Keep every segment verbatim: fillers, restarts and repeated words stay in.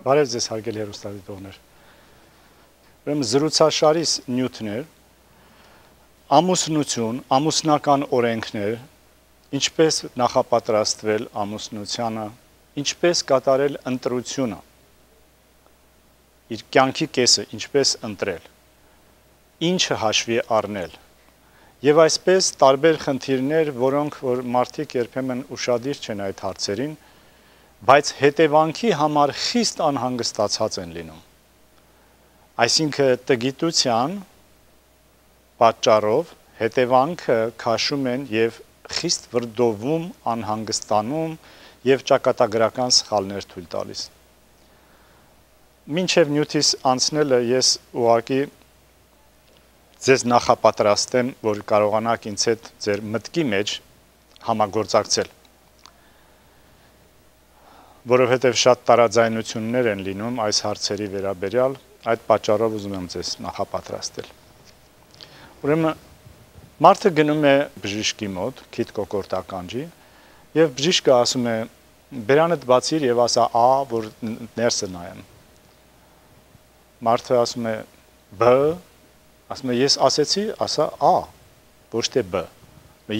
Բարև ձեզ հարգելի հեռուստադիտողներ։ Ուրեմն զրուցաշարիս նյութներ, ամուսնություն, ամուսնական օրենքներ, ինչպես նախապատրաստվել ամուսնությանը, ինչպես կատարել ընտրությունը, իր կյանքի կեսը ինչպես ընտրել, ինչը հաշվի առնել, եւ այսպես տարբեր խնդիրներ, որոնք որ մարդիկ երբեմն ուշադիր չեն այդ հարցերին, բայց հետևանքի համար խիստ անհանգստացած են լինում։ Այսինքն տգիտության պատճառով հետևանքը քաշում են եւ խիստ վրդովում, անհանգստանում եւ ճակատագրական սխալներ թույլ տալիս։ Մինչև նյութիս անցնելը ես ուղղակի ձեզ նախապատրաստեմ, որ կարողանաք ինձ հետ ձեր մտքի մեջ համագործակցել։ Որովհետև շատ տարաձայնություններ են լինում այս հարցերի վերաբերյալ, այդ պատճառով ուզում եմ ձեզ նախապատրաստել։ Ուրեմն մարդը գնում է բժիշկի մոտ, քիթ կոկորտ ականջի, եւ բժիշկը ասում է՝ «Բերանդ բացիր եւ ասա ա, որ ներսը նայեմ»։ Մարդը ասում է՝ «Բ», ասում է՝ «Ես ասեցի, ասա ա, ոչ թե բ»։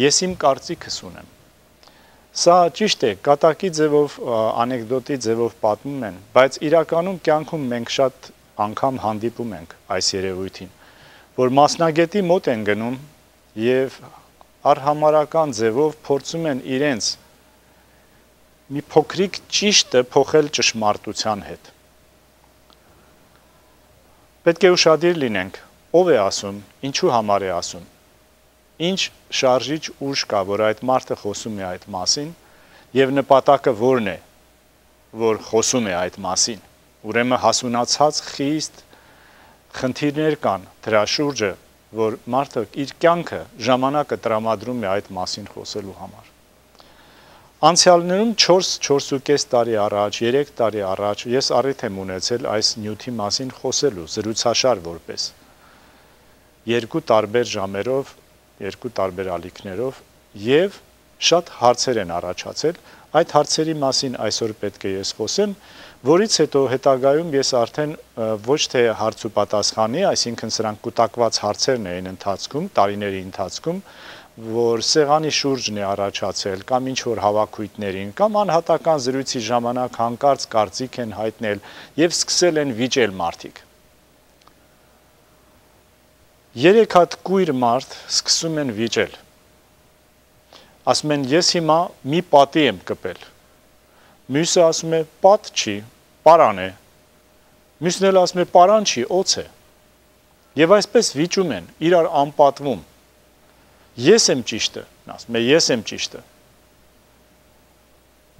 Ես իմ կարծիքս ունեմ։ Սա ճիշտ է, կատակի ձևով, անեկդոտի ձևով պատմում են, բայց իրականում կյանքում մենք շատ անգամ հանդիպում ենք այս երևույթին, որ մասնագետի մոտ են գնում եւ արհամարական ձևով փորձում են իրենց մի փոքրիկ ճիշտը փոխել ճշմարտության հետ։ Պետք է ուշադիր լինենք, ով է ասում, ինչու համար է ասում, ինչ շարժիչ ուժ կա, որ այդ մարդը խոսում է այդ մասին, եւ նպատակը որն է, որ խոսում է այդ մասին։ Ուրեմն հասունացած խիստ խնդիրներ կան դրա շուրջը, որ մարդը իր կյանքը ժամանակը տրամադրում է այդ մասին խոսելու համար։ Անցյալներում չորս-չորսուկես տարի առաջ, երեք տարի առաջ ես առիթ եմ ունեցել այս նյութի մասին խոսելու, զրուցաշար որպես։ Երկու տարբեր ժամերով, երկու տարբեր ալիքներով եւ շատ հարցեր են առաջացել, այդ հարցերի մասին այսօր պետք է ես խոսեմ, որից հետո հետագայում ես արդեն ոչ թե հարց ու պատասխանի, այսինքն սրանք կուտակված հարցերն էին ընթացքում, տարիների ընթացքում, որ սեղանի շուրջն է առաջացել կամ ինչ որ հավաքույթներին, կամ անհատական զրույցի ժամանակ հանկարծ կարծիք են հայտնել եւ սկսել են վիճել մարդիկ։ Երեք հատ կույր մարդ սկսում են վիճել։ Ասում են, ես հիմա մի պատի եմ կպել։ Մյուսը ասում է, պատ չի, պարան է։ Մյուսն էլ ասում է, պարան չի, օձ է։ Եվ այսպես վիճում են, իրար անպատվում։ Ես եմ ճիշտը, ասում է, ես եմ ճիշտը։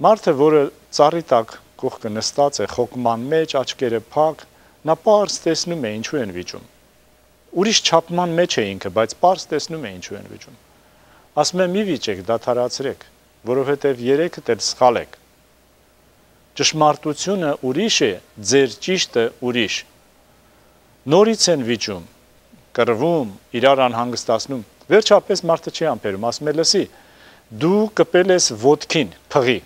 Մարդը, որը ծառի տակ կողքը նստած է, խոկման մեջ, աչքերը փակ, նա պարզ տեսնում է ինչու են վիճում։ Ուրիշ չափման մեջ է ինքը, բայց պարզ տեսնում է ինչու են վիճում։ Ասում է, մի վիճեք, դադարացրեք, որովհետև երեքդ էլ սխալ եք։ Ճշմարտությունը ուրիշ է, ձեր ճիշտը ուրիշ։ Նորից են վիճում, կռվում, իրար անհանգստացնում։ Վերջապես մարդը չի ամփերում, ասում է, լսի, դու կպել ես ոտքին, փղի։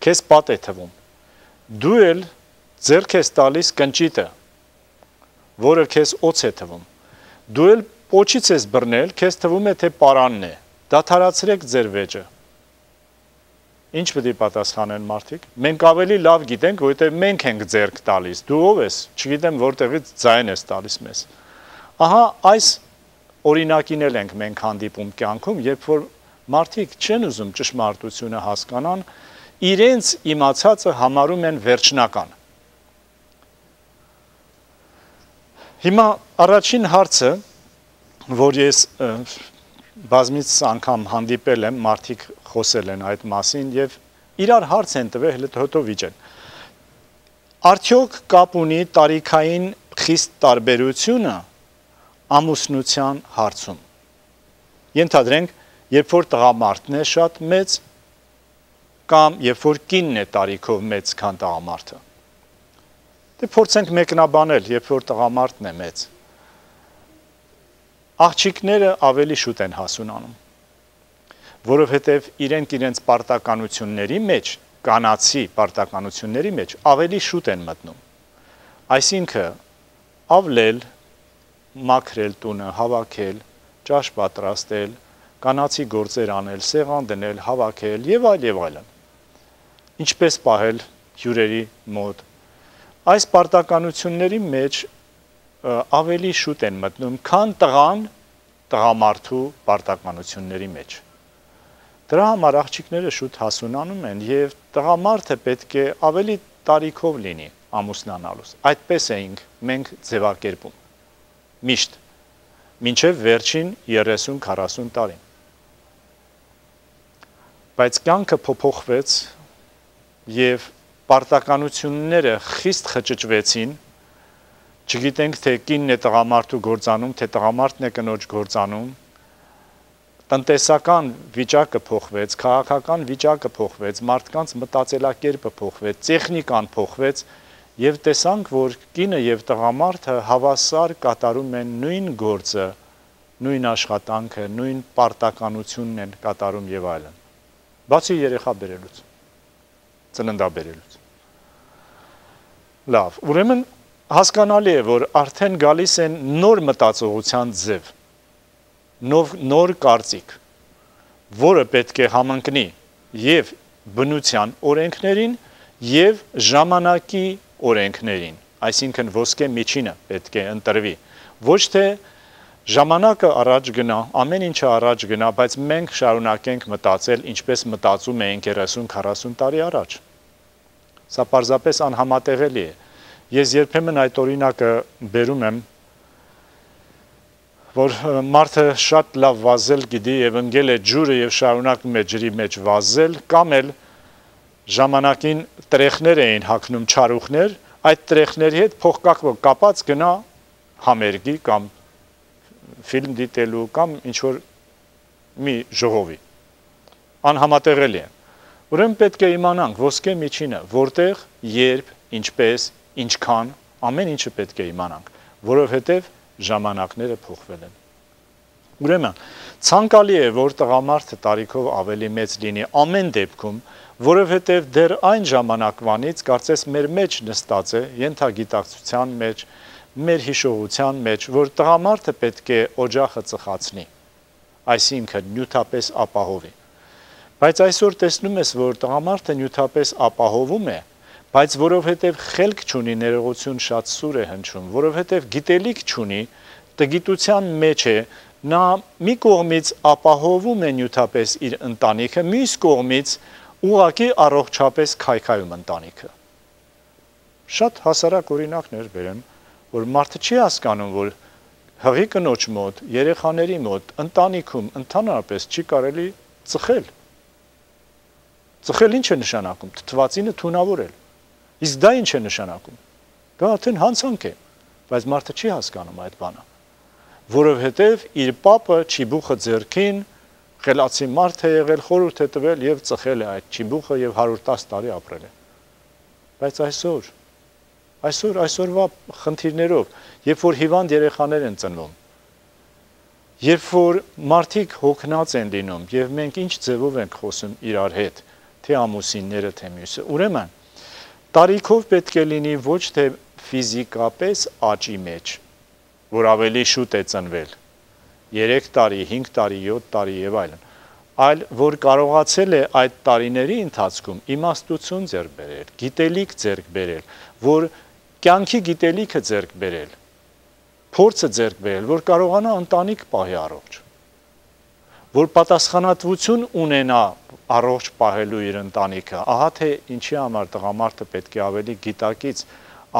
Քեզ պատ է թվում։ Դու էլ ձեռք ես տալիս կնճիտը, որը քեզ օձ է թվում։ Դու էլ պոչից ես բռնել, քեզ թվում է թե պարանն է։ Դադարացրեք ձեր վեճը։ Ինչ պետք է պատասխանեն մարդիկ։ Մենք ավելի լավ գիտենք, որովհետև մենք ենք ձեռք տալիս։ Դու ով ես, չգիտեմ որտեղից ձայն ես տալիս մեզ։ Ահա այս օրինակին էլ ենք մենք հանդիպում կյանքում, երբ որ մարդիկ չեն ուզում ճշմարտությունը հասկանան, իրենց իմացածը համարում են վերջնական։ Հիմա առաջին հարցը, որ ես բազմից անգամ հանդիպել եմ, մարդիկ խոսել են այդ մասին եւ իրար հարց են տվել, հետո վիճեն։ Արդյոք կապ ունի տարիքային խիստ տարբերությունը ամուսնության հարցում։ Ենթադրենք, երբ որ տղամարդն է շատ մեծ, կամ երբ որ կինն է տարիքով մեծ, քան տղամարդը։ Դե փորձենք մեկնաբանել, երբ որ տղամարդն է մեծ։ Աղջիկները ավելի շուտ են հասունանում, որովհետև իրենք իրենց պարտականությունների մեջ կանացի պարտականությունների մեջ ավելի շուտ են մտնում։ Այսինքն ավլել, մաքրել տունը, հավաքել, ճաշ պատրաստել, կանացի գործեր անել, սեղան դնել, հավաքել եւ այլ եւ այլն։ Ինչպես պահել հյուրերի մոտ։ Այս պարտականությունների մեջ ավելի շուտ են մտնում, քան տղան տղամարդու պարտականությունների մեջ։ Դրա համար աղջիկները շուտ հասունանում են եւ տղամարդը պետք է ավելի տարիքով լինի ամուսնանալուց։ Այդպես էինք մենք ձևակերպում։ Միշտ մինչև վերջին երեսուն քառասուն տարին։ Բայց կյանքը փոփոխվեց եւ պարտականությունները խիստ խճճվեցին, չգիտենք թե կինն է տղամարդու գործանում, թե տղամարդն է կնոջ գործանում, տնտեսական վիճակը փոխվեց, քաղաքական վիճակը փոխվեց, մարդկանց մտածելակերպը փոխվեց, տեխնիկան փոխվեց եւ տեսանք, որ կինը եւ տղամարդը հավասար կատարում են նույն գործը, նույն աշխատանքը, նույն պարտականությունն են կատարում եւ այլն։ Բացի երեխա բերելուց, ծննդաբերելուց։ Լավ, ուրեմն հասկանալի է, որ արդեն գալիս են նոր մտածողության ձև, նոր, նոր կարծիք, որը պետք է համընկնի եւ բնության օրենքներին եւ ժամանակի օրենքներին, այսինքն ոսկե միջինը պետք է ընտրվի, ոչ թե ժամանակը առաջ գնա, ամեն ինչը առաջ գնա, բայց մենք շարունակենք մտածել, ինչպես մտածում էինք երեսուն քառասուն տարի առաջ։ Սա պարզապես անհամատեղելի է։ Ես երբեմն այդ օրինակը բերում եմ, որ մարդը շատ լավ վազել գիտի եւ ընկել է ջուրը եւ շարունակում է ջրի մեջ վազել, կամ էլ ժամանակին տրեխներ էին հագնում չարուխներ, այդ տրեխների հետ փողկապը կապած գնա համերգի կամ ֆիլմ դիտելու կամ ինչ-որ մի ժողովի։ Անհամատեղելի է։ Ուրեմն պետք է իմանանք ոսկե միջինը, որտեղ, երբ, ինչպես, ինչքան, ամեն ինչը պետք է իմանանք, որովհետև ժամանակները փոխվել են։ Ուրեմն, ցանկալի է, որ տղամարդը տարիքով ավելի մեծ լինի ամեն դեպքում, որովհետև դեռ այն ժամանակվանից կարծես մեր մեջ նստած է, ենթագիտակցության մեջ, մեր հիշողության մեջ, որ տղամարդը պետք է օջախը ծխացնի, այսինքն նյութապես ապահովի։ Բայց այսօր տեսնում ես, որ տղամարդը նյութապես ապահովում է, բայց որովհետև խելք չունի, ներողություն շատ սուր է հնչում, որովհետև գիտելիք չունի, տգիտության մեջ է, նա մի կողմից ապահովում է նյութապես իր ընտանիքը, մյուս կողմից ուղղակի առողջապես քայքայում ընտանիքը։ Շատ հասարակ օրինակներ բերեմ, որ մարդը չի հասկանում, որ հղի կնոջ մոտ, երեխաների մոտ, ընտանիքում ընդհանրապես չի կարելի ծխել։ Ծխել ինչ է նշանակում, թթվածինը թունավորել։ Իսկ դա ինչ է նշանակում։ Դա արդեն հանցանք է, բայց մարդը չի հասկանում այդ բանը, որովհետև իր պապը չիբուխը ձեռքին, խելացի մարդ է եղել, խորհուրդ է տվել եւ ծխել է այդ չիբուխը եւ հարյուր տասը տարի ապրել է։ Բայց այսօր, այսօր այսօրվա խնդիրներով, երբ որ հիվանդ երեխաներ են ծնվում, երբ որ մարդիկ հոգնած են լինում եւ մենք ինչ ձևով ենք խոսում իրար հետ, թե ամուսինները, թե մյուսը, ուրեմն տարիքով պետք է լինի ոչ թե ֆիզիկապես աճի մեջ, որ ավելի շուտ է ծնվել, երեք տարի, հինգ տարի, յոթ տարի եւ այլն, այլ որ կարողացել է այդ տարիների ընթացքում իմաստություն ձեռք բերել, գիտելիք ձեռք բերել, որ կյանքի գիտելիքը ձեռք բերել, փորձը ձեռք բերել, որ կարողանա ընտանիք պահի առողջ, որ պատասխանատվություն ունենա առողջ պահելու իր ընտանիքը, ահա թե ինչի համար տղամարդը պետք է ավելի գիտակից,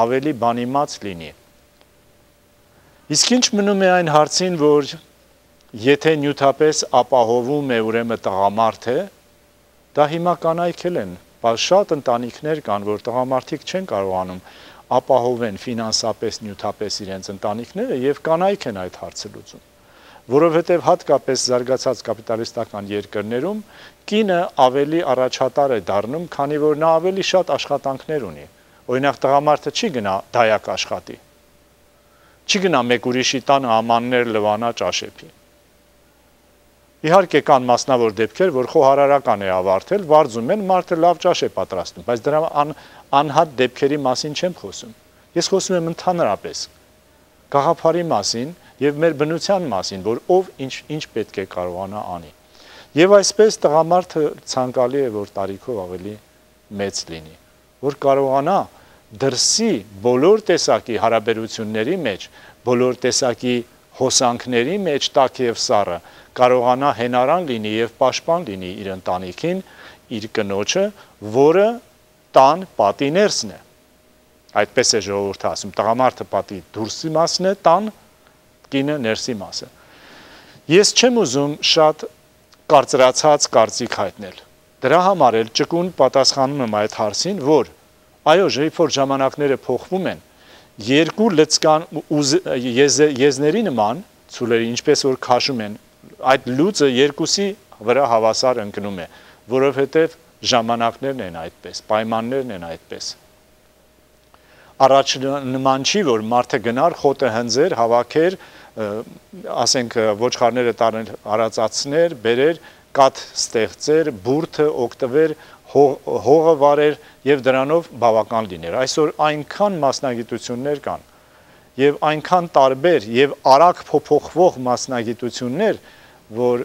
ավելի բանիմաց լինի։ Իսկ ինչ մնում է այն հարցին, որ եթե նյութապես ապահովում է ուրեմն տղամարդը, դա հիմա կանայքել են, բայց շատ ընտանիքներ կան, որ տղամարդիկ չեն կարողանում ապահովեն ֆինանսապես, նյութապես իրենց ընտանիքները եւ կանայք են այդ հարցը լուծում, որովհետեւ հատկապես զարգացած կապիտալիստական երկրներում կինը ավելի առաջատար է դառնում, քանի որ նա ավելի շատ աշխատանքներ ունի։ Օրինակ տղամարդը չի գնա դայակ աշխատի, չի գնա մեկ ուրիշի տանը ամաններ լվանա ճաշեփի։ Իհարկե կան մասնավոր դեպքեր, որ խոհարարական է ավարտել, վարձում են, մարդը լավ ճաշ է պատրաստում, բայց դրա ան, անհատ դեպքերի մասին չեմ խոսում։ Ես խոսում եմ ընդհանրապես գաղափարի մասին եւ մեր բնության մասին, որ ով ինչ ինչ պետք է կարողանա անի։ Եվ այսպես տղամարդը ցանկալի է, որ տարիքով ավելի մեծ լինի, որ կարողանա դրսի բոլոր տեսակի հարաբերությունների մեջ, բոլոր տեսակի հոսանքների մեջ տաք եւ սառը կարողանա հենարան լինի եւ պաշտպան լինի իր ընտանիքին, իր կնոջը, որը տան պատի ներսն է։ Այդպես է ժողովուրդը ասում, տղամարդը պատի դուրսի մասն է, տան կինը ներսի մասը։ Ես չեմ ուզում շատ կարծրացած կարծիք հայտնել։ Դրա համար էլ ճկուն պատասխանում եմ այդ հարցին, որ այո, երբ որ ժամանակները փոխվում են, երկու լծկան եզ, եզների նման ցուլերի ինչպես որ քաշում են, այդ լուծը երկուսի վրա հավասար ընկնում է, որովհետև ժամանակներն են այդպես, պայմաններն են այդպես։ Առաջ նման չի, որ մարդը գնար, խոտը հնձեր, հավաքեր, ասենք ոչխարները տարներ արածացներ, բերեր, կաթ ստեղծեր, բուրդը օգտվեր, հողը վարեր եւ դրանով բավական լիներ։ Այսօր այնքան մասնագիտություններ կան եւ այնքան տարբեր եւ արագ փոփոխվող մասնագիտություններ, որ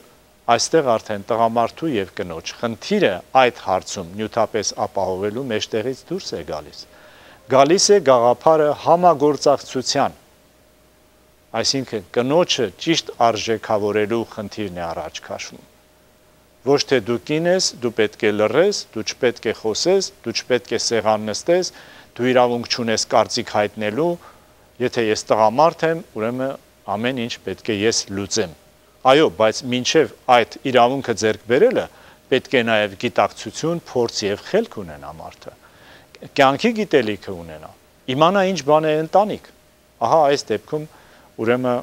այստեղ արդեն տղամարդու եւ կնոջ խնդիրը այդ հարցում նյութապես ապահովելու մեջտեղից դուրս է գալիս։ Գալիս է գաղափարը համագործակցության, այսինքն կնոջը ճիշտ արժեքավորելու խնդիրն է առաջ քաշվում։ Ոչ թե դու կին ես, դու պետք է լռես, դու չպետք է խոսես, դու չպետք է սեղան նստես, դու իրավունք չունես կարծիք հայտնելու, եթե ես տղամարդ եմ, ուրեմն ամեն ինչ պետք է ես լուծեմ։ Այո, բայց մինչև այդ իրավունքը ձեռք բերելը պետք է նաև գիտակցություն, փորձ եւ խելք ունենա մարդը։ Կյանքի գիտելիքը ունենա, իմանա ինչ բան է ընտանիք։ Ահա այս դեպքում ուրեմն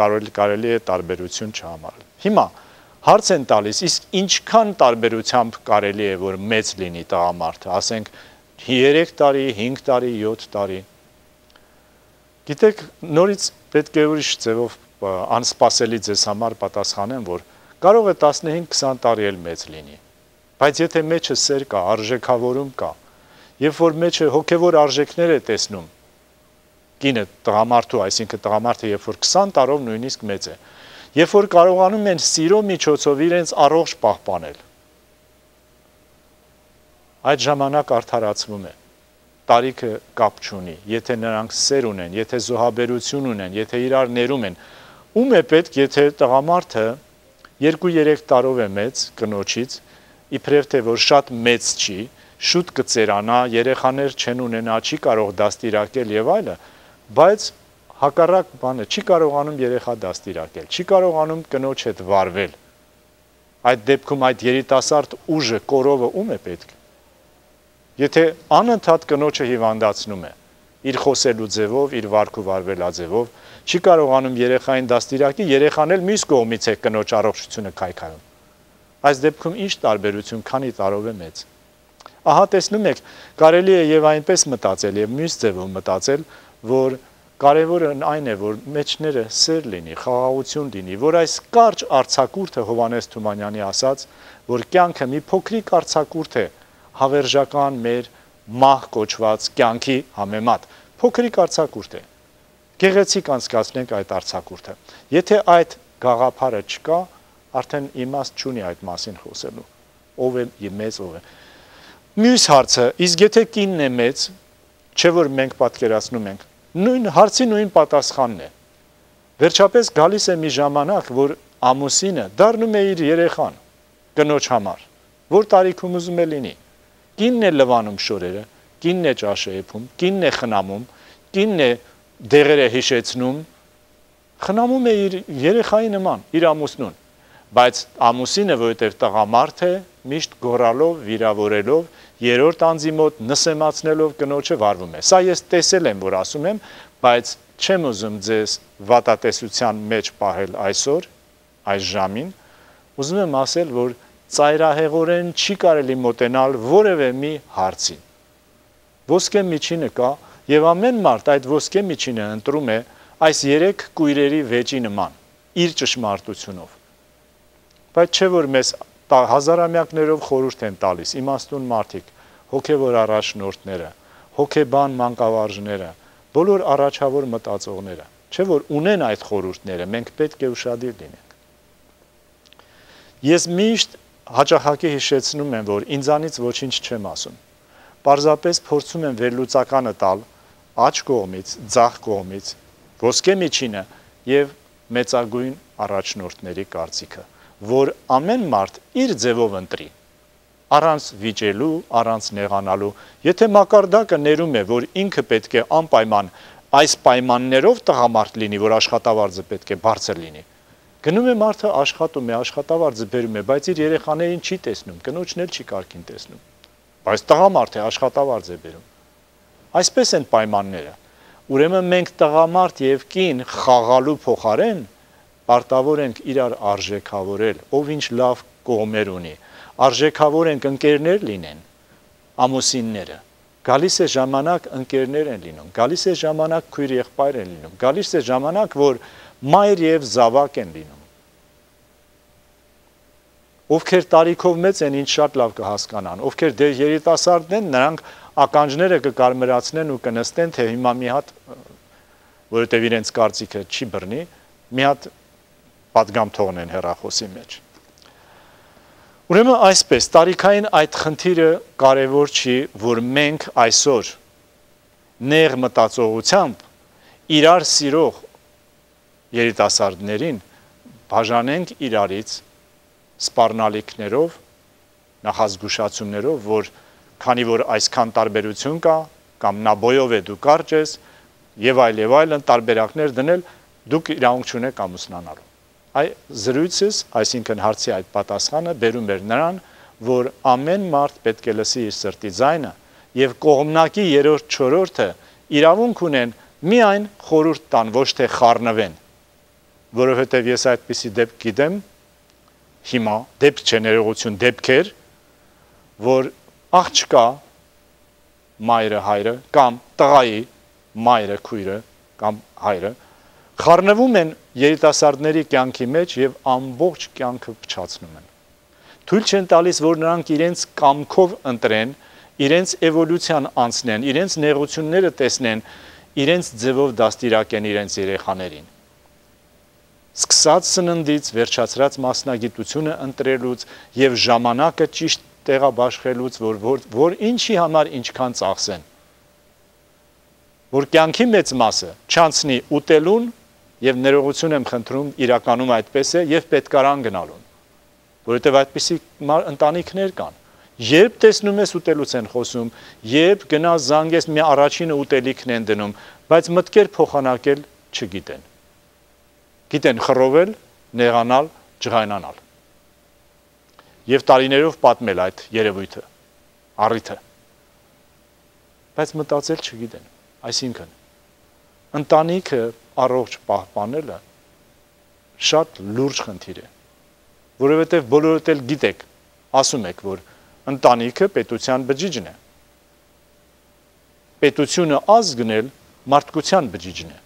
կարելի կարելի է տարբերություն չհամարել։ Հիմա հարց են տալիս, իսկ ինչքան տարբերությամբ կարելի է, որ մեծ լինի տղամարդը, ասենք երեք տարի, հինգ տարի, յոթ տարի։ Գիտեք, նորից պետք է ուրիշ ձևով անսպասելի ձեզ համար պատասխանեմ, որ կարող է տասնհինգ քսան տարի էլ մեծ լինի։ Բայց եթե մեջը սեր կա, արժեքավորում կա, երբ որ մեջը հոգևոր արժեքներ է տեսնում, կինը տղամարդու, այսինքն տղամարդը երբ որ քսան տարով նույնիսկ մեծ է, երբ որ կարողանում են սիրո միջոցով իրենց առողջ պահպանել, այդ ժամանակ արդարացվում է, տարիքը կապ չունի, եթե նրանք սեր ունեն, եթե զոհաբերություն ունեն, եթե իրար ներում են, ում է պետք, եթե տղամարդը երկու-երեք տարով է մեծ կնոջից, իբրև թե որ շատ մեծ չի, շուտ կծերանա, երեխաներ չեն ունենա, չի կարող դաստիարակել եւ այլը, բայց հակառակ բանը չի կարողանում երեխա դաստիարակել, չի կարողանում կնոջ հետ վարվել։ Այդ դեպքում այդ երիտասարդ ուժը, կորովը ում է պետք։ Եթե անընդհատ կնոջը հիվանդացնում է, իր խոսելու ձևով, իր վարքու վարվելաձևով, չի կարողանում երեխային դաստիարակի, երեխան էլ մյուս կողմից է կնոջ առողջությունը քայքայում։ Այս դեպքում ինչ տարբերություն, քանի տարով է մեծ։ Ահա տեսնում եք, կարելի է եւ այնպես մտածել եւ մյուս ձևով մտածել, որ կարևորը այն է, որ մեջները սեր լինի, խաղաղություն լինի, որ այս կարճ արձակուրդը Հովհաննես Թումանյանի ասած, որ կյանքը մի փոքրիկ արձակուրդ է, հավերժական մեր մահ կոչված կյանքի համեմատ, փոքրիկ արձակուրդ է։ Գեղեցիկ անցկացնենք այդ արձակուրդը։ Եթե այդ գաղափարը չկա, արդեն իմաստ չունի այդ մասին խոսելու։ Ով է մեծ, ով է։ Մյուս հարցը, իսկ եթե կինն է մեծ, չէ որ մենք պատկերացնում ենք, նույն հարցի նույն պատասխանն է։ Վերջապես գալիս է մի ժամանակ, որ ամուսինը դառնում է իր երեխան կնոջ համար, որ տարիքում ուզում է լինի։ Կինն է լվանում շորերը, կինն է ճաշը եփում, կինն է խնամում, կինն է դեղերը հիշեցնում, խնամում է իր երեխայի նման, իր ամուսնուն, բայց ամուսինը, որովհետև տղամարդ է, միշտ գոռալով, վիրավորելով, երրորդ անձի մոտ նսեմացնելով կնոջը վարվում է։ Սա ես տեսել եմ, որ ասում եմ, բայց չեմ ուզում ձեզ վատատեսության մեջ պահել այսօր, այս ժամին, ուզում եմ ասել, որ ծայրահեղորեն չի կարելի մոտենալ որևէ մի հարցի։ Ոսկե միջինը կա, եւ ամեն մարդ այդ ոսկե միջինը ընտրում է այս երեք կույրերի վեճի նման, իր ճշմարտությունով։ Բայց չէ որ մեզ հազարամյակներով խորհուրդ են տալիս իմաստուն մարդիկ, հոգևոր առաջնորդները, հոգեբան մանկավարժները, բոլոր առաջավոր մտածողները, չէ որ ունեն այդ խորհուրդները, մենք պետք է ուշադիր լինենք։ Ես միշտ հաճախակի հիշեցնում եմ, որ ինձանից ոչինչ չեմ ասում։ Պարզապես փորձում եմ վերլուծականը տալ աջ կողմից, ձախ կողմից, ոսկե միջինը եւ մեծագույն առաջնորդների կարծիքը, որ ամեն մարդ իր ձևով ընտրի, առանց վիճելու, առանց նեղանալու, եթե մակարդակը ներում է, որ ինքը պետք է անպայման այս պայմաններով տղամարդ լինի, որ աշխատավարձը պետք է բարձր լինի, գնում է մարդը աշխատում է, աշխատավարձը բերում է, բայց իր երեխաներին չի տեսնում, կնոջն էլ չի կարգին տեսնում, բայց տղամարդ է, աշխատավարձ է բերում, այսպես են պայմանները, ուրեմն մենք տղամարդ և կին խաղալու փոխարեն պարտավոր ենք իրար արժեքավորել, ով ինչ լավ կողմեր ունի, արժեքավոր ենք ընկերներ լինեն, ամուսինները, գալիս է ժամանակ ընկերներ են լինում, գալիս է ժամանակ քույր եղբայր են լինում, գալիս է ժամանակ, որ մայր և զավակ են լինում, ովքեր տարիքով մեծ են, ինչ շատ լավ կհասկանան, ովքեր դեր երիտասարդն են, նրանք ականջները կկարմրացնեն ու կնստեն, թե հիմա մի հատ, որովհետև իրենց կարծիքը չի բռնի, մի հատ պատգամ թողնեն հեռախոսի մեջ։ Ուրեմն այսպես, տարիքային այդ խնդիրը կարևոր չի, որ մենք այսօր նեղ մտածողությամբ իրար սիրող երիտասարդներին բաժանենք իրարից սպառնալիքներով, նախազգուշացումներով, որ քանի որ այսքան տարբերություն կա, կամ նա բոյով է դու կարճ ես, եւ այլ եւ այլն տարբերակներ դնել, դուք իրավունք չունեք ամուսնանալու։ Այ զրույցս, այսինքն հարցի այդ պատասխանը բերում էր նրան, որ ամեն մարդ պետք է լսի իր սրտի ձայնը եւ կողմնակի երրորդ չորրորդը իրավունք ունեն միայն խորհուրդ տան, ոչ թե խառնվեն, որովհետեւ ես այդպիսի դեպք գիտեմ, հիմա դեպք չէ ներողություն դեպքեր, որ աղջկա մայրը հայրը կամ տղայի մայրը քույրը կամ հայրը խառնվում են երիտասարդների կյանքի մեջ եւ ամբողջ կյանքը փչացնում են։ Թույլ չեն տալիս, որ նրանք իրենց կամքով ընտրեն, իրենց էվոլյուցիան անցնեն, իրենց նեղությունները տեսնեն, իրենց ձևով դաստիարակեն իրենց երեխաներին։ Սկսած սննդից, վերջացրած մասնագիտությունը ընտրելուց եւ ժամանակը ճիշտ տեղաբաշխելուց, որ, որ, որ ինչի համար ինչքան ծախսեն, որ կյանքի մեծ մասը չանցնի ուտելուն եւ ներողություն եմ խնդրում, իրականում այդպես է եւ պետքարան գնալուն, որովհետեւ այդպիսի ընտանիքներ կան, երբ տեսնում ես ուտելուց են խոսում, երբ գնաս զանգես մի առաջինը ուտելիքն են դնում, բայց մտքեր փոխանակել չգիտեն, գիտեն խռովել, նեղանալ, ջղայնանալ եւ տարիներով պատմել այդ երևույթը, առիթը, բայց մտածել չգիտեն, այսինքն, ընտանիքը առողջ պահպանելը շատ լուրջ խնդիր է, որովհետև բոլորդ էլ գիտեք, ասում եք, որ ընտանիքը պետության բջիջն է, պետությունը ազգն էլ մարդկության բջիջն է,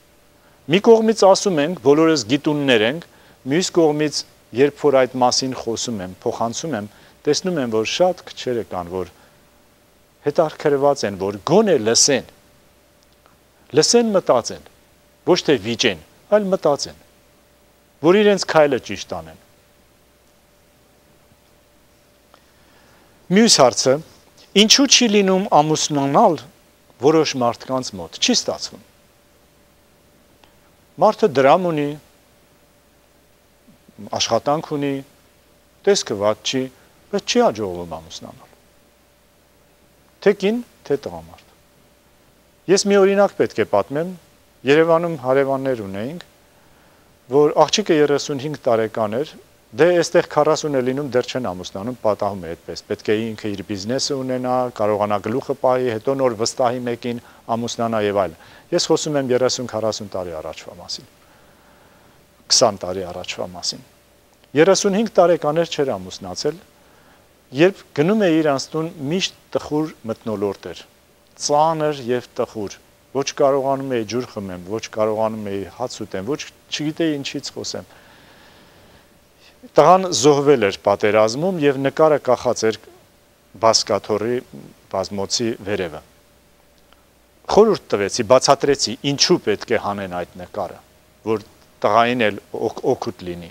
մի կողմից ասում ենք, բոլորս գիտուններ ենք, մյուս կողմից երբ որ այդ մասին խոսում եմ, փոխանցում եմ, տեսնում եմ, որ շատ քչերը կան, որ հետաքրքրված են, որ գոնե լսեն, լսեն մտածեն, ոչ թե վիճեն, այլ մտածեն, որ իրենց քայլը ճիշտ անեն։ Մյուս հարցը, ինչու չի լինում ամուսնանալ որոշ մարդկանց մոտ, չի ստացվում։ Մարդը դրամ ունի, աշխատանք ունի, տեսքը վատ չի, բայց չի հաջողվում ամուսնանալ։ Թե կին, թե տղամարդ։ Ես մի օրինակ պետք է պատմեմ, Երևանում հարևաններ ունեինք, որ աղջիկը երեսունհինգ տարեկան էր, դե այստեղ քառասուն է լինում, դեռ չեն ամուսնանում, պատահում է այդպես, պետք է ինքը իր բիզնեսը ունենա, կարողանա գլուխը պահի, հետո նոր վստահի մեկին ամուսնանա եւ այլն։ Ես խոսում եմ երեսուն-քառասուն տարի առաջվա մասին, քսան տարի առաջվա մասին։ երեսունհինգ տարեկաներ չէր ամուսնացել, երբ գնում է իր անցնուն միշտ տխուր մթնոլորտ էր, ծանր եւ տխուր, ոչ կարողանում էի ջուր խմեմ, ոչ կարողանում էի հաց ուտեմ, ոչ չգիտեի ինչից խոսեմ։ Տղան զոհվել էր պատերազմում եւ նկարը կախած էր բասկաթորի բազմոցի վերևը։ Խորհուրդ տվեցի, բացատրեցի, ինչու պետք է հանեն այդ նկարը, որ տղային էլ օգուտ լինի,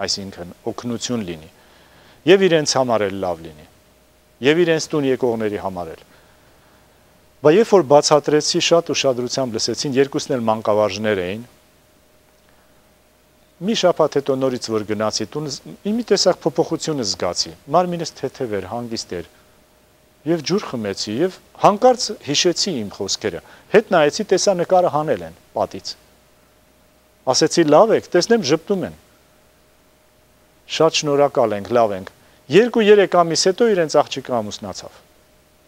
այսինքն օգնություն լինի, եւ իրենց համար էլ լավ լինի, եւ իրենց տուն եկողների համար էլ։ Բայց երբ որ բացատրեցի, շատ ուշադրությամբ լսեցին, երկուսն էլ մանկավարժներ էին։ Մի շաբաթ հետո նորից որ գնացի տուն, մի տեսակ փոփոխություն զգացի։ Մարմինս թեթև էր, հանգիստ էր։ Եվ ջուր խմեցի եւ հանկարծ հիշեցի իմ խոսքերը։ Հետ նայեցի, տեսա նկարը հանել են պատից։ Ասեցի լավ եք, տեսնեմ ժպտում են։ Շատ շնորհակալ ենք, լավ ենք։ երկու-երեք ամիս հետո իրենց աղջիկը ամուսնացավ։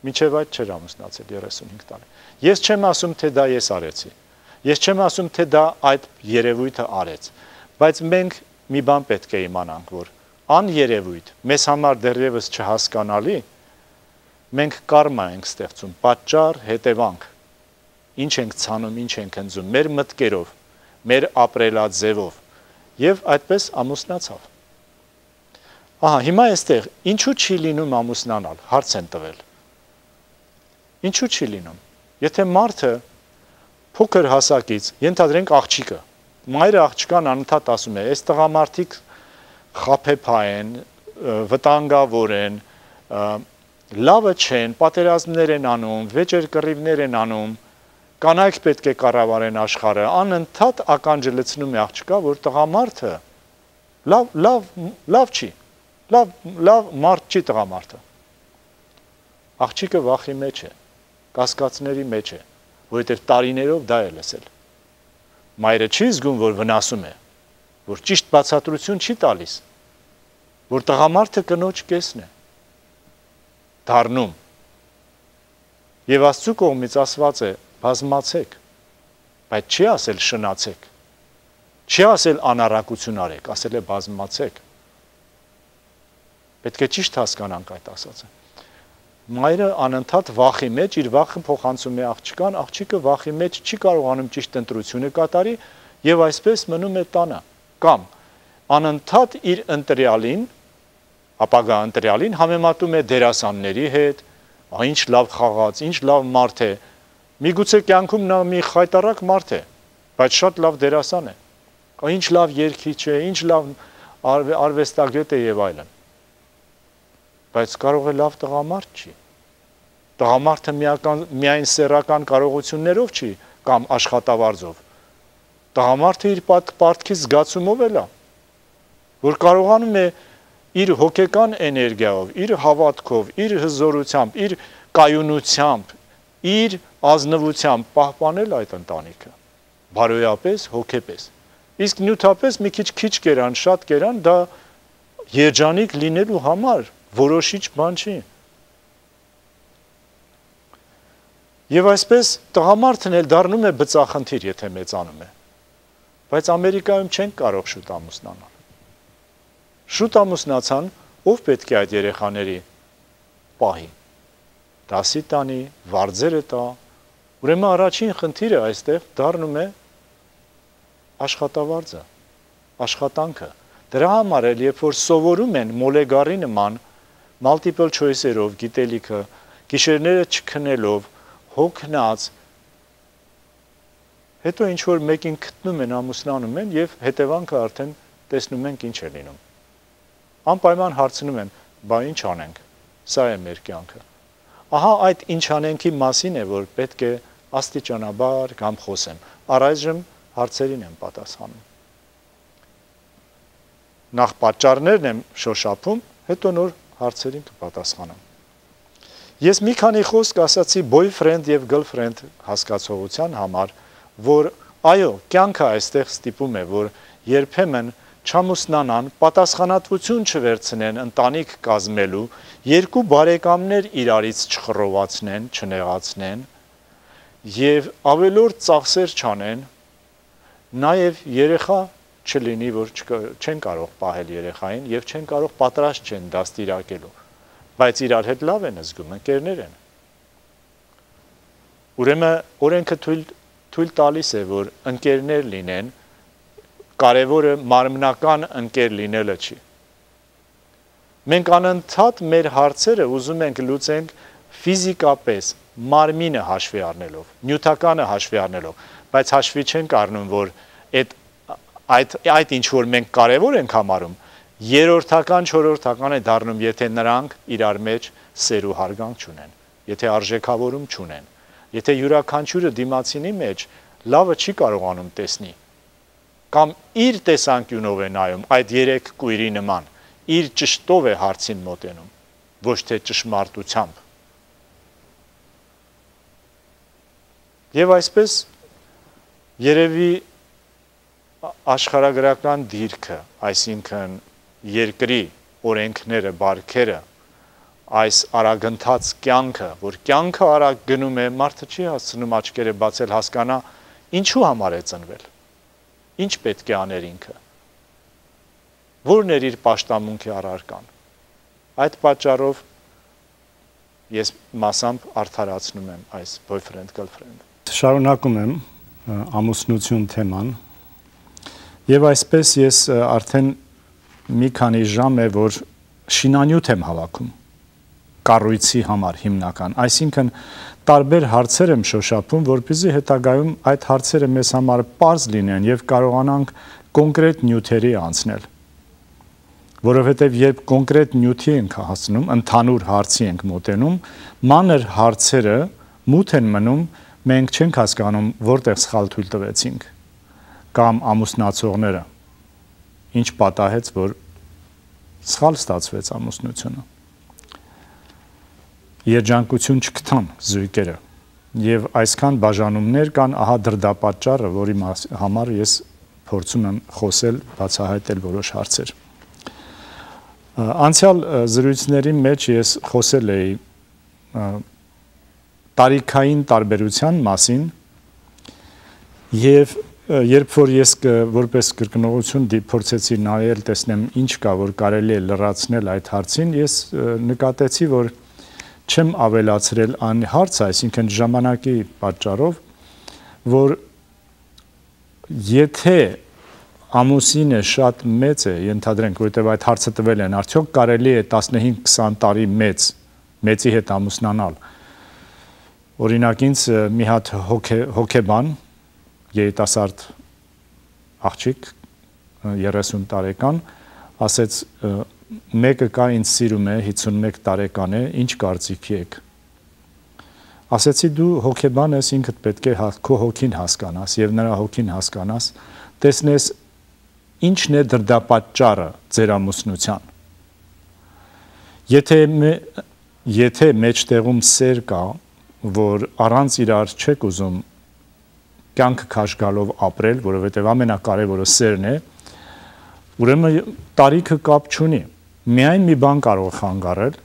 Մինչև այդ չէր ամուսնացել երեսունհինգ տարի։ Ես չեմ ասում, թե դա ես արեցի։ Ես չեմ ասում, թե դա այդ երևույթը արեց, բայց մենք մի բան պետք է իմանանք, որ աներևույթ, մեզ համար դեռևս չհասկանալի, մենք կարմա ենք ստեղծում, պատճառ, հետևանք, ինչ ենք ցանում, ինչ ենք ընձում, մեր մտքերով, մեր ապրելաձևով, եւ այդպես ամուսնացավ։ Ահա, հիմա այստեղ ինչու չի լինում ամուսնանալ, հարց են տվել։ Ինչու չի լինում։ Եթե մարդը փոքր հասակից, ենթադրենք աղջիկը, մայրը աղջկան անընդհատ ասում է, այս տղամարդիկ խաբեբա են, վտանգավոր են, լավը չեն, պատերազմներ են անում, վեճեր կռիվներ են անում, կանայք պետք է կառավարեն աշխարհը, անընդհատ ականջը լցնում է աղջկա, որ տղամարդը լավ, լավ, լավ չի, լավ, լավ մարդ չի տղամարդը։ Աղջիկը վախի մեջ է, կասկածների մեջ է, որովհետև տարիներով դա է լսել։ Մայրը չի զգում, որ վնասում է, որ ճիշտ բացատրություն չի տալիս, որ տղամարդը կնոջ կեսն է, դառնում։ Եվ Աստծու կողմից ասված է, բազմացեք, բայց չի ասել շնացեք, չի ասել անառակություն արեք, ասել է բազմացեք։ Պետք է ճիշտ հասկանանք այդ ասածը։ Մայրը անընդհատ վախի մեջ, իր վախը փոխանցում է աղջկան, աղջիկը վախի մեջ չի կարողանում ճիշտ ընտրությունը կատարի եւ այսպես մնում է տանը, կամ անընդհատ իր ընտրյալին, ապագա ընտրյալին համեմատում է դերասանների հետ, ինչ լավ խաղաց, ինչ լավ մարդ է, միգուցե կյանքում նա մի խայտարակ մարդ է, բայց շատ լավ դերասան է, ինչ լավ երգիչ է, ինչ լավ արվեստագետ է եւ այլն։ Բայց կարող է լավ տղամարդ չի։ Տղամարդը միական, միայն սեռական կարողություններով չի կամ աշխատավարձով։ Տղամարդը իր պարտքի զգացումով է լա, որ կարողանում է իր հոգեկան էներգիայով, իր հավատքով, իր հզորությամբ, իր կայունությամբ, իր ազնվությամբ պահպանել այդ ընտանիքը։ Բարոյապես, հոգեպես։ Իսկ նյութապես մի քիչ քիչ կերան, շատ կերան, դա երջանիկ լինելու համար որոշիչ բան չի։ Եվ այսպես տղամարդն էլ դառնում է բծախնդիր, եթե մեծանում է։ Բայց Ամերիկայում չեն կարող շուտ ամուսնանալ։ Շուտ ամուսնացան, ով պետք է այդ երեխաների պահի։ Դասի տանի, վարձերը տա։ Ուրեմն առաջին խնդիրը այստեղ դառնում է աշխատավարձը, աշխատանքը։ Դրա համար էլ, երբ որ սովորում են մոլեգարի նման multiple choice-երով գիտելիքը, գիշերները չքնելով, հոգնած, հետո ինչ որ մեկին գտնում են, ամուսնանում են եւ հետևանքը արդեն տեսնում ենք ինչ է լինում։ Անպայման հարցնում են, բա ինչ անենք։ Սա է մեր կյանքը։ Ահա այդ ինչ անենքի մասին է, որ պետք է աստիճանաբար կամ խոսեմ։ Առայժմ հարցերին եմ պատասխանում։ Նախ պատճառներն եմ շոշափում, հետո նոր հարցերին կպատասխանեմ։ Ես մի քանի խոսք ասացի boyfriend եւ girlfriend հասկացողության համար, որ այո, կյանքը այստեղ ստիպում է, որ երբեմն չամուսնանան, պատասխանատվություն չվերցնեն ընտանիք կազմելու, երկու բարեկամներ իրարից չխռովացնեն, չնեղացնեն եւ ավելորդ ծախսեր չանեն, նաեւ երեխա չլինի, որ չեն կարող պահել երեխային եւ չեն կարող պատրաստ չեն դաստիարակելու, բայց իրար հետ լավ են զգում, ընկերներ են։ Ուրեմն օրենքը թույլ թույլ տալիս է, որ ընկերներ լինեն, կարևորը մարմնական ընկեր լինելը չի, Մենք անընդհատ մեր հարցերը ուզում ենք լուծենք ֆիզիկապես, մարմինը հաշվի առնելով, նյութականը հաշվի առնելով, բայց հաշվի չենք առնում, որ այդ այդ այդ ինչ որ մենք կարևոր ենք համարում, երրորդական, չորրորդական է դառնում, եթե նրանք իրար մեջ սեր ու հարգանք չունեն, եթե արժեքավորում չունեն, եթե յուրաքանչյուրը դիմացինի մեջ լավը չի կարողանում տեսնի, կամ իր տեսանկյունով է նայում այդ երեք կույրի նման, իր ճշտով է հարցին մոտենում, ոչ թե ճշմարտությամբ։ Եվ այսպես երևի աշխարհագրական դիրքը, այսինքն երկրի օրենքները, բարքերը, այս արագընթաց կյանքը, որ կյանքը արագ գնում է, մարդը չի հասցնում աչքերը բացել հասկանա, ինչու համար է ծնվել, ինչ պետք է աներ ինքը, որն էր իր պաշտամունքի առարկան։ Այդ պատճառով ես մասամբ արդարացնում եմ այս boyfriend girlfriend։ Շարունակում եմ ամուսնություն թեման եւ այսպես ես արդեն մի քանի ժամ է որ շինանյութ եմ հավաքում կառույցի համար հիմնական, այսինքն տարբեր հարցեր եմ շոշափում, որպեսզի հետագայում այդ հարցերը մեզ համար պարզ լինեն եւ կարողանանք կոնկրետ նյութերի անցնել, որովհետեւ երբ կոնկրետ նյութի ենք հասնում, ընդհանուր հարցի ենք մոտենում, մանր հարցերը մութ են մնում, մենք չենք հասկանում որտեղ սխալ թույլ տվեցինք կամ ամուսնացողները ինչ պատահեց, որ սխալ ստացվեց ամուսնությունը։ Երջանկություն չգտան զույգերը եւ այսքան բաժանումներ կան, ահա դրդապատճառը, որի համար ես փորձում եմ խոսել, բացահայտել որոշ հարցեր։ Անցյալ զրույցների մեջ ես խոսել էի տարիքային տարբերության մասին եւ երբ որ ես որպես կրկնողություն փորձեցի նայել տեսնեմ ինչ կա որ կարելի է լրացնել այդ հարցին, ես նկատեցի որ չեմ ավելացրել այն հարցը, այսինքն ժամանակի պատճառով, որ եթե ամուսինը շատ մեծ է, ենթադրենք, որովհետև այդ հարցը տվել են, արդյոք կարելի է տասնհինգ քսան տարի մեծ, մեծի հետ ամուսնանալ։ Օրինակ ինձ մի հատ հոգեբան, երիտասարդ աղջիկ, երեսուն տարեկան, ասեց մեկը կա ինձ սիրում է, հիսունմեկ տարեկան է, ինչ կարծիքի եք։ Ասեցի դու հոգեբան ես, ինքդ պետք է քո հոգին հասկանաս եւ նրա հոգին հասկանաս, տեսնես ինչն է դրդապատճառը ձեր ամուսնության։ Եթե եթե մեջտեղում սեր կա, որ առանց իրար չեք ուզում կյանքը քաշ գալով ապրել, որովհետև ամենակարևորը սերն է, ուրեմն տարիքը կապ չունի։ Միայն մի բան կարող խանգարել,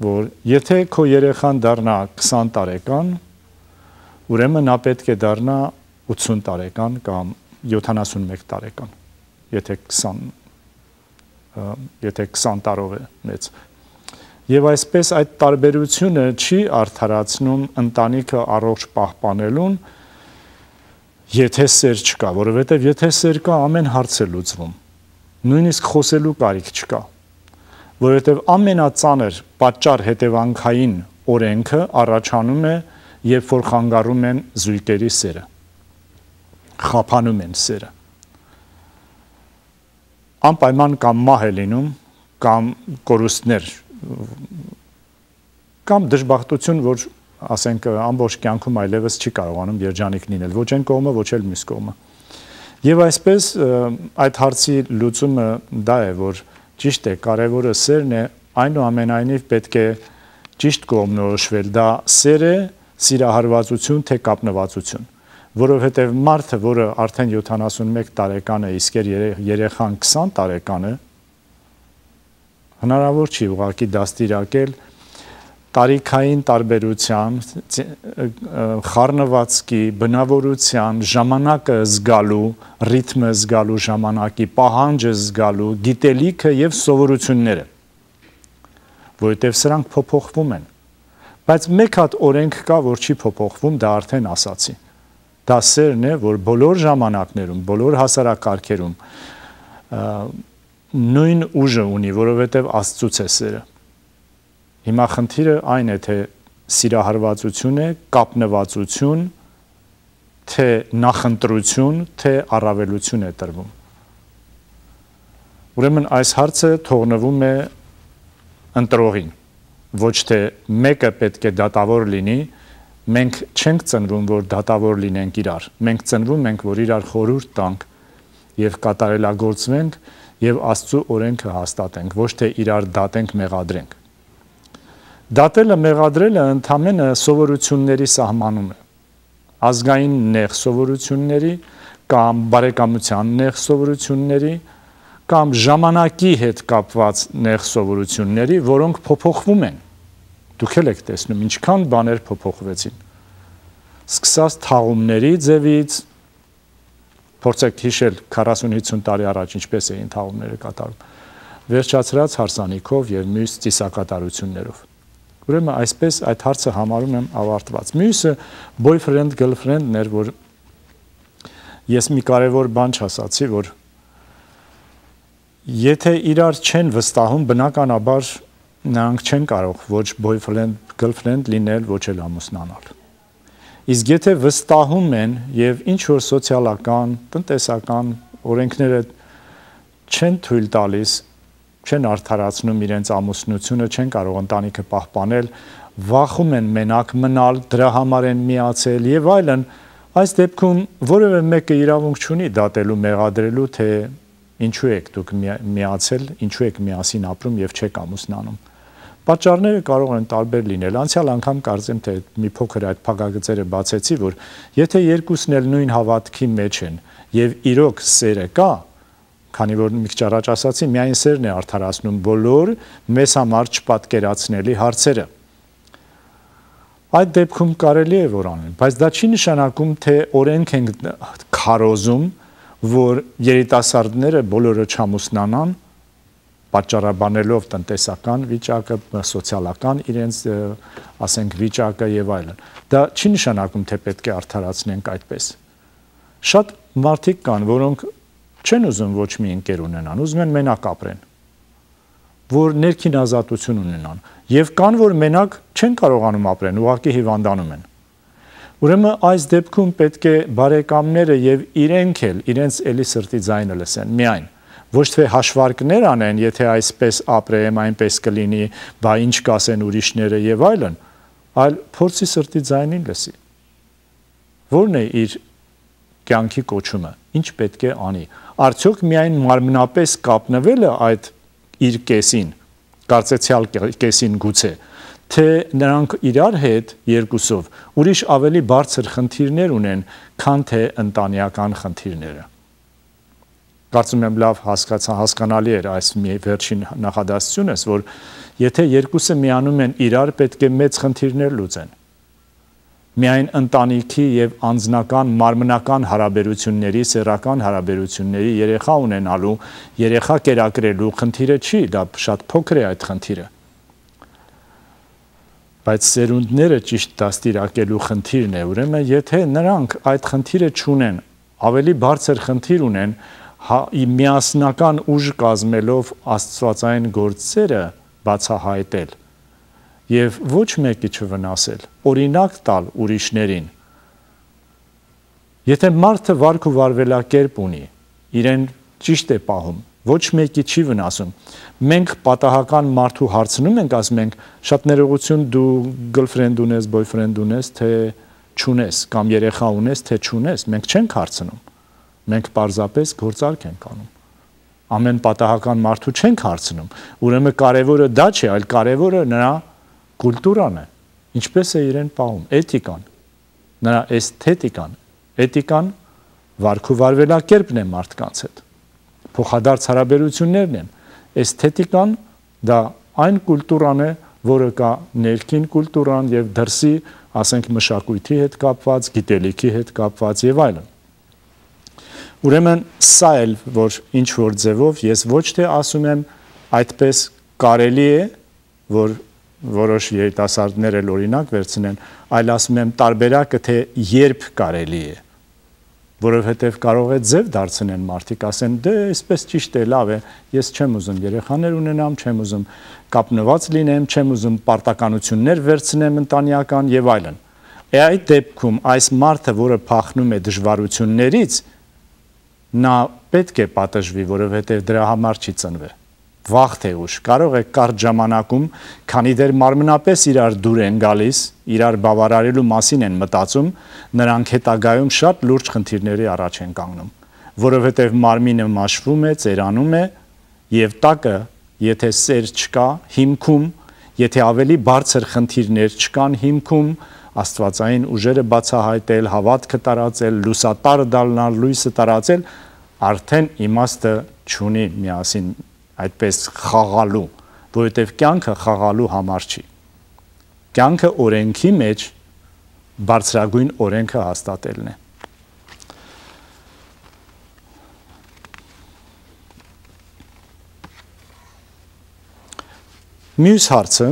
որ եթե քո երեխան դառնա քսան տարեկան, ուրեմն նա պետք է դառնա ութսուն տարեկան կամ յոթանասունմեկ տարեկան, եթե քսան եթե քսան տարով է մեծ։ Եվ այսպես այդ տարբերությունը չի արդարացնում ընտանիքը առողջ պահպանելուն, եթե սեր չկա, որովհետև եթե սեր կա, ամեն հարց է լուծվում, նույնիսկ խոսելու կարիք չկա, որովհետև ամենածանր պատճառ հետևանքային օրենքը առաջանում է, երբ որ խանգարում են զույգերի սերը, խափանում են սերը, անպայման կամ մահ է լինում, կամ կորուստներ, կամ դժբախտություն, որ ասենք ամբողջ կյանքում այլևս չի կարողանում երջանիկ լինել, ոչ այն կողմը, ոչ էլ մյուս կողմը։ Եվ այսպես այդ հարցի լուծումը դա է, որ ճիշտ է, կարևորը սերն է, այնուամենայնիվ պետք է ճիշտ կողմնորոշվել, դա սեր է, սիրահարվածություն, թե կապնվածություն, որովհետև մարդը, որը արդեն յոթանասունմեկ տարեկան է, իսկ երեխան քսան տարեկան է, հնարավոր չի ուղղակի դաստիարակել տարիքային տարբերության, խառնվածքի, բնավորության, ժամանակը զգալու, ռիթմը զգալու ժամանակի, պահանջը զգալու, գիտելիքը եւ սովորությունները, որովհետեւ սրանք փոփոխվում են։ Բայց մեկ հատ օրենք կա, որ չի փոփոխվում, դա արդեն ասացի։ Դա սերն է, որ բոլոր ժամանակներում, բոլոր հասարակարգերում նույն ուժը ունի, որովհետև Աստծուց է սերը։ Հիմա խնդիրը այն է, թե սիրահարվածություն է, կապնվածություն, թե նախընտրություն, թե առավելություն է տրվում։ Ուրեմն այս հարցը թողնվում է ընտրողին, ոչ թե մեկը պետք է դատավոր լինի, մենք չենք ծնվում, որ դատավոր լինենք իրար, մենք ծնվում ենք, որ իրար խորհուրդ տանք եւ կատարելագործվենք եւ Աստծո օրենքը հաստատենք, ոչ թե իրար դատենք, մեղադրենք։ Դատելը, մեղադրելը ընդհանրապես սովորությունների սահմանում է։ Ազգային նեղ սովորությունների կամ բարեկամության նեղ սովորությունների կամ ժամանակի հետ կապված նեղ սովորությունների, որոնք փոփոխվում են։ Դուք էլ եք տեսնում ինչքան բաներ փոփոխվեցին։ Սկսած թաղումների ձևից, փորձեք հիշել քառասուն-հիսուն տարի առաջ ինչպես էին թաղումները կատարում, վերջացրած հարսանիքով եւ մյուս ծիսակատարություններով։ Ուրեմն այսպես այդ հարցը համարում եմ ավարտված։ Մյուսը boyfriend girlfriend-ն էր, որ ես մի կարևոր բան չասացի, որ եթե իրար չեն վստահում, բնականաբար նրանք չեն կարող ոչ boyfriend girlfriend լինել, ոչ էլ ամուսնանալ։ Իսկ եթե վստահում են եւ ինչ որ սոցիալական, տնտեսական օրենքները չեն թույլ տալիս, չեն արդարացնում իրենց ամուսնությունը, չեն կարող ընտանիքը պահպանել, վախում են մենակ մնալ, դրա համար են միացել եւ այլն, այս դեպքում որևէ մեկը իրավունք չունի դատելու, մեղադրելու, թե ինչու եք դուք միացել, ինչու եք միասին ապրում եւ չեք ամուսնանում։ Պատճառները կարող են տարբեր լինել։ Անցյալ անգամ կարծեմ, թե մի փոքր այդ փակագծերը բացեցի, որ եթե երկուսն էլ նույն հավատքի մեջ են եւ իրոք սերը կա, քանի որ մի քիչ առաջ ասացի, միայն սերն է արդարացնում բոլոր մեզ համար չպատկերացնելի հարցերը։ Այդ դեպքում կարելի է որ անեն, բայց դա չի նշանակում, թե օրենք են քարոզում, որ երիտասարդները բոլորը չամուսնանան, պատճառաբանելով տնտեսական վիճակը, սոցիալական իրենց, ասենք, վիճակը եւ այլն։ Դա չի նշանակում, թե պետք է արդարացնենք այդպես։ Շատ մարդիկ կան, որոնք չեն ուզում ոչ մի ընկեր ունենան, ուզում են մենակ ապրեն, որ ներքին ազատություն ունենան, եւ կան, որ մենակ չեն կարողանում ապրեն, ուղղակի հիվանդանում են։ Ուրեմն այս դեպքում պետք է բարեկամները եւ իրենք էլ իրենց էլի սրտի ձայնը լսեն, միայն ոչ թե հաշվարկներ անեն, եթե այսպես ապրեմ, այնպես կլինի, բա ինչ կասեն ուրիշները եւ այլն, այլ փորձի սրտի ձայնին լսի։ Որն է իր կյանքի կոչումը, ինչ պետք է անի։ Արդյոք միայն մարմնապես կապնվելը այդ իր կեսին, կարծեցյալ կեսին գուցե, թե նրանք իրար հետ երկուսով ուրիշ ավելի բարձր խնդիրներ ունեն, քան թե ընտանեկան խնդիրները։ Կարծում եմ լավ հասկացա, հասկանալի էր այս մի վերջին նախադասությունս, որ եթե երկուսը միանում են իրար, պետք է մեծ խնդիրներ լուծեն։ Միայն ընտանիքի եւ անձնական մարմնական հարաբերությունների, սեռական հարաբերությունների երեխա ունենալու, երեխա կերակրելու խնդիրը չի, դա շատ փոքր է այդ խնդիրը։ Բայց սերունդները ճիշտ դաստիարակելու խնդիրն է, ուրեմն եթե նրանք այդ խնդիրը չունեն, ավելի բարձր խնդիր ունեն, միասնական ուժ կազմելով աստվածային գործերը բացահայտել եւ ոչ մեկի չվնասել, օրինակ տալ ուրիշներին։ Եթե մարդը վարք ու վարվելակերպ ունի, իրեն ճիշտ է պահում, ոչ մեկի չի վնասում։ Մենք պատահական մարդու հարցնում ենք, ասում ենք, շատ ներողություն, դու girlfriend ունես, boyfriend ունես, թե չունես, կամ երեխա ունես, թե չունես, մենք չենք հարցնում։ Մենք պարզապես գործարք ենք անում։ Ամեն պատահական մարդու չենք հարցնում։ Ուրեմն կարևորը դա չէ, այլ կարևորը նրա կուլտուրան է, ինչպես է իրեն պահում, էթիկան, նրա էսթետիկան, էթիկան վարք ու վարվելակերպն է մարդկանց հետ, փոխադարձ հարաբերություններն են, էսթետիկան դա այն կուլտուրան է, որը կա ներքին կուլտուրան եւ դրսի, ասենք մշակույթի հետ կապված, գիտելիքի հետ կապված եւ այլն։ Ուրեմն սա էլ, որ ինչ որ ձևով ես ոչ թե ասում եմ այդպես կարելի է, որ որոշ երիտասարդներ էլ օրինակ վերցնեն, այլ ասում եմ տարբերակը, թե երբ կարելի է։ որովհետև կարող է ձև դարձնեն մարդիկ, ասեն, դե այսպես ճիշտ է, լավ է, ես չեմ ուզում երեխաներ ունենամ, չեմ ուզում կապնված լինեմ, չեմ ուզում պարտականություններ վերցնեմ ընտանեկան եւ այլն։ Է այդ դեպքում այս մարդը, որը փախնում է դժվարություններից, նա պետք է պատժվի, որովհետև դրա համար չի ծնվել։ Վաղ թե ուշ կարող է կարճ ժամանակում, քանի դեռ մարմնապես իրար դուր են գալիս, իրար բավարարելու մասին են մտածում, նրանք հետագայում շատ լուրջ խնդիրների առաջ են կանգնում, որովհետև մարմինը մաշվում է, ծերանում է, եւ տակը, եթե սեր չկա, հիմքում, եթե ավելի բարձր խնդիրներ չկան հիմքում, աստվածային ուժերը բացահայտել, հավատքը տարածել, լուսատար դառնալ, լույսը տարածել, արդեն իմաստը չունի միասին այդպես խաղալու, որովհետև կյանքը խաղալու համար չի։ Կյանքը օրենքի մեջ բարձրագույն օրենքը հաստատելն է։ Մյուս հարցը,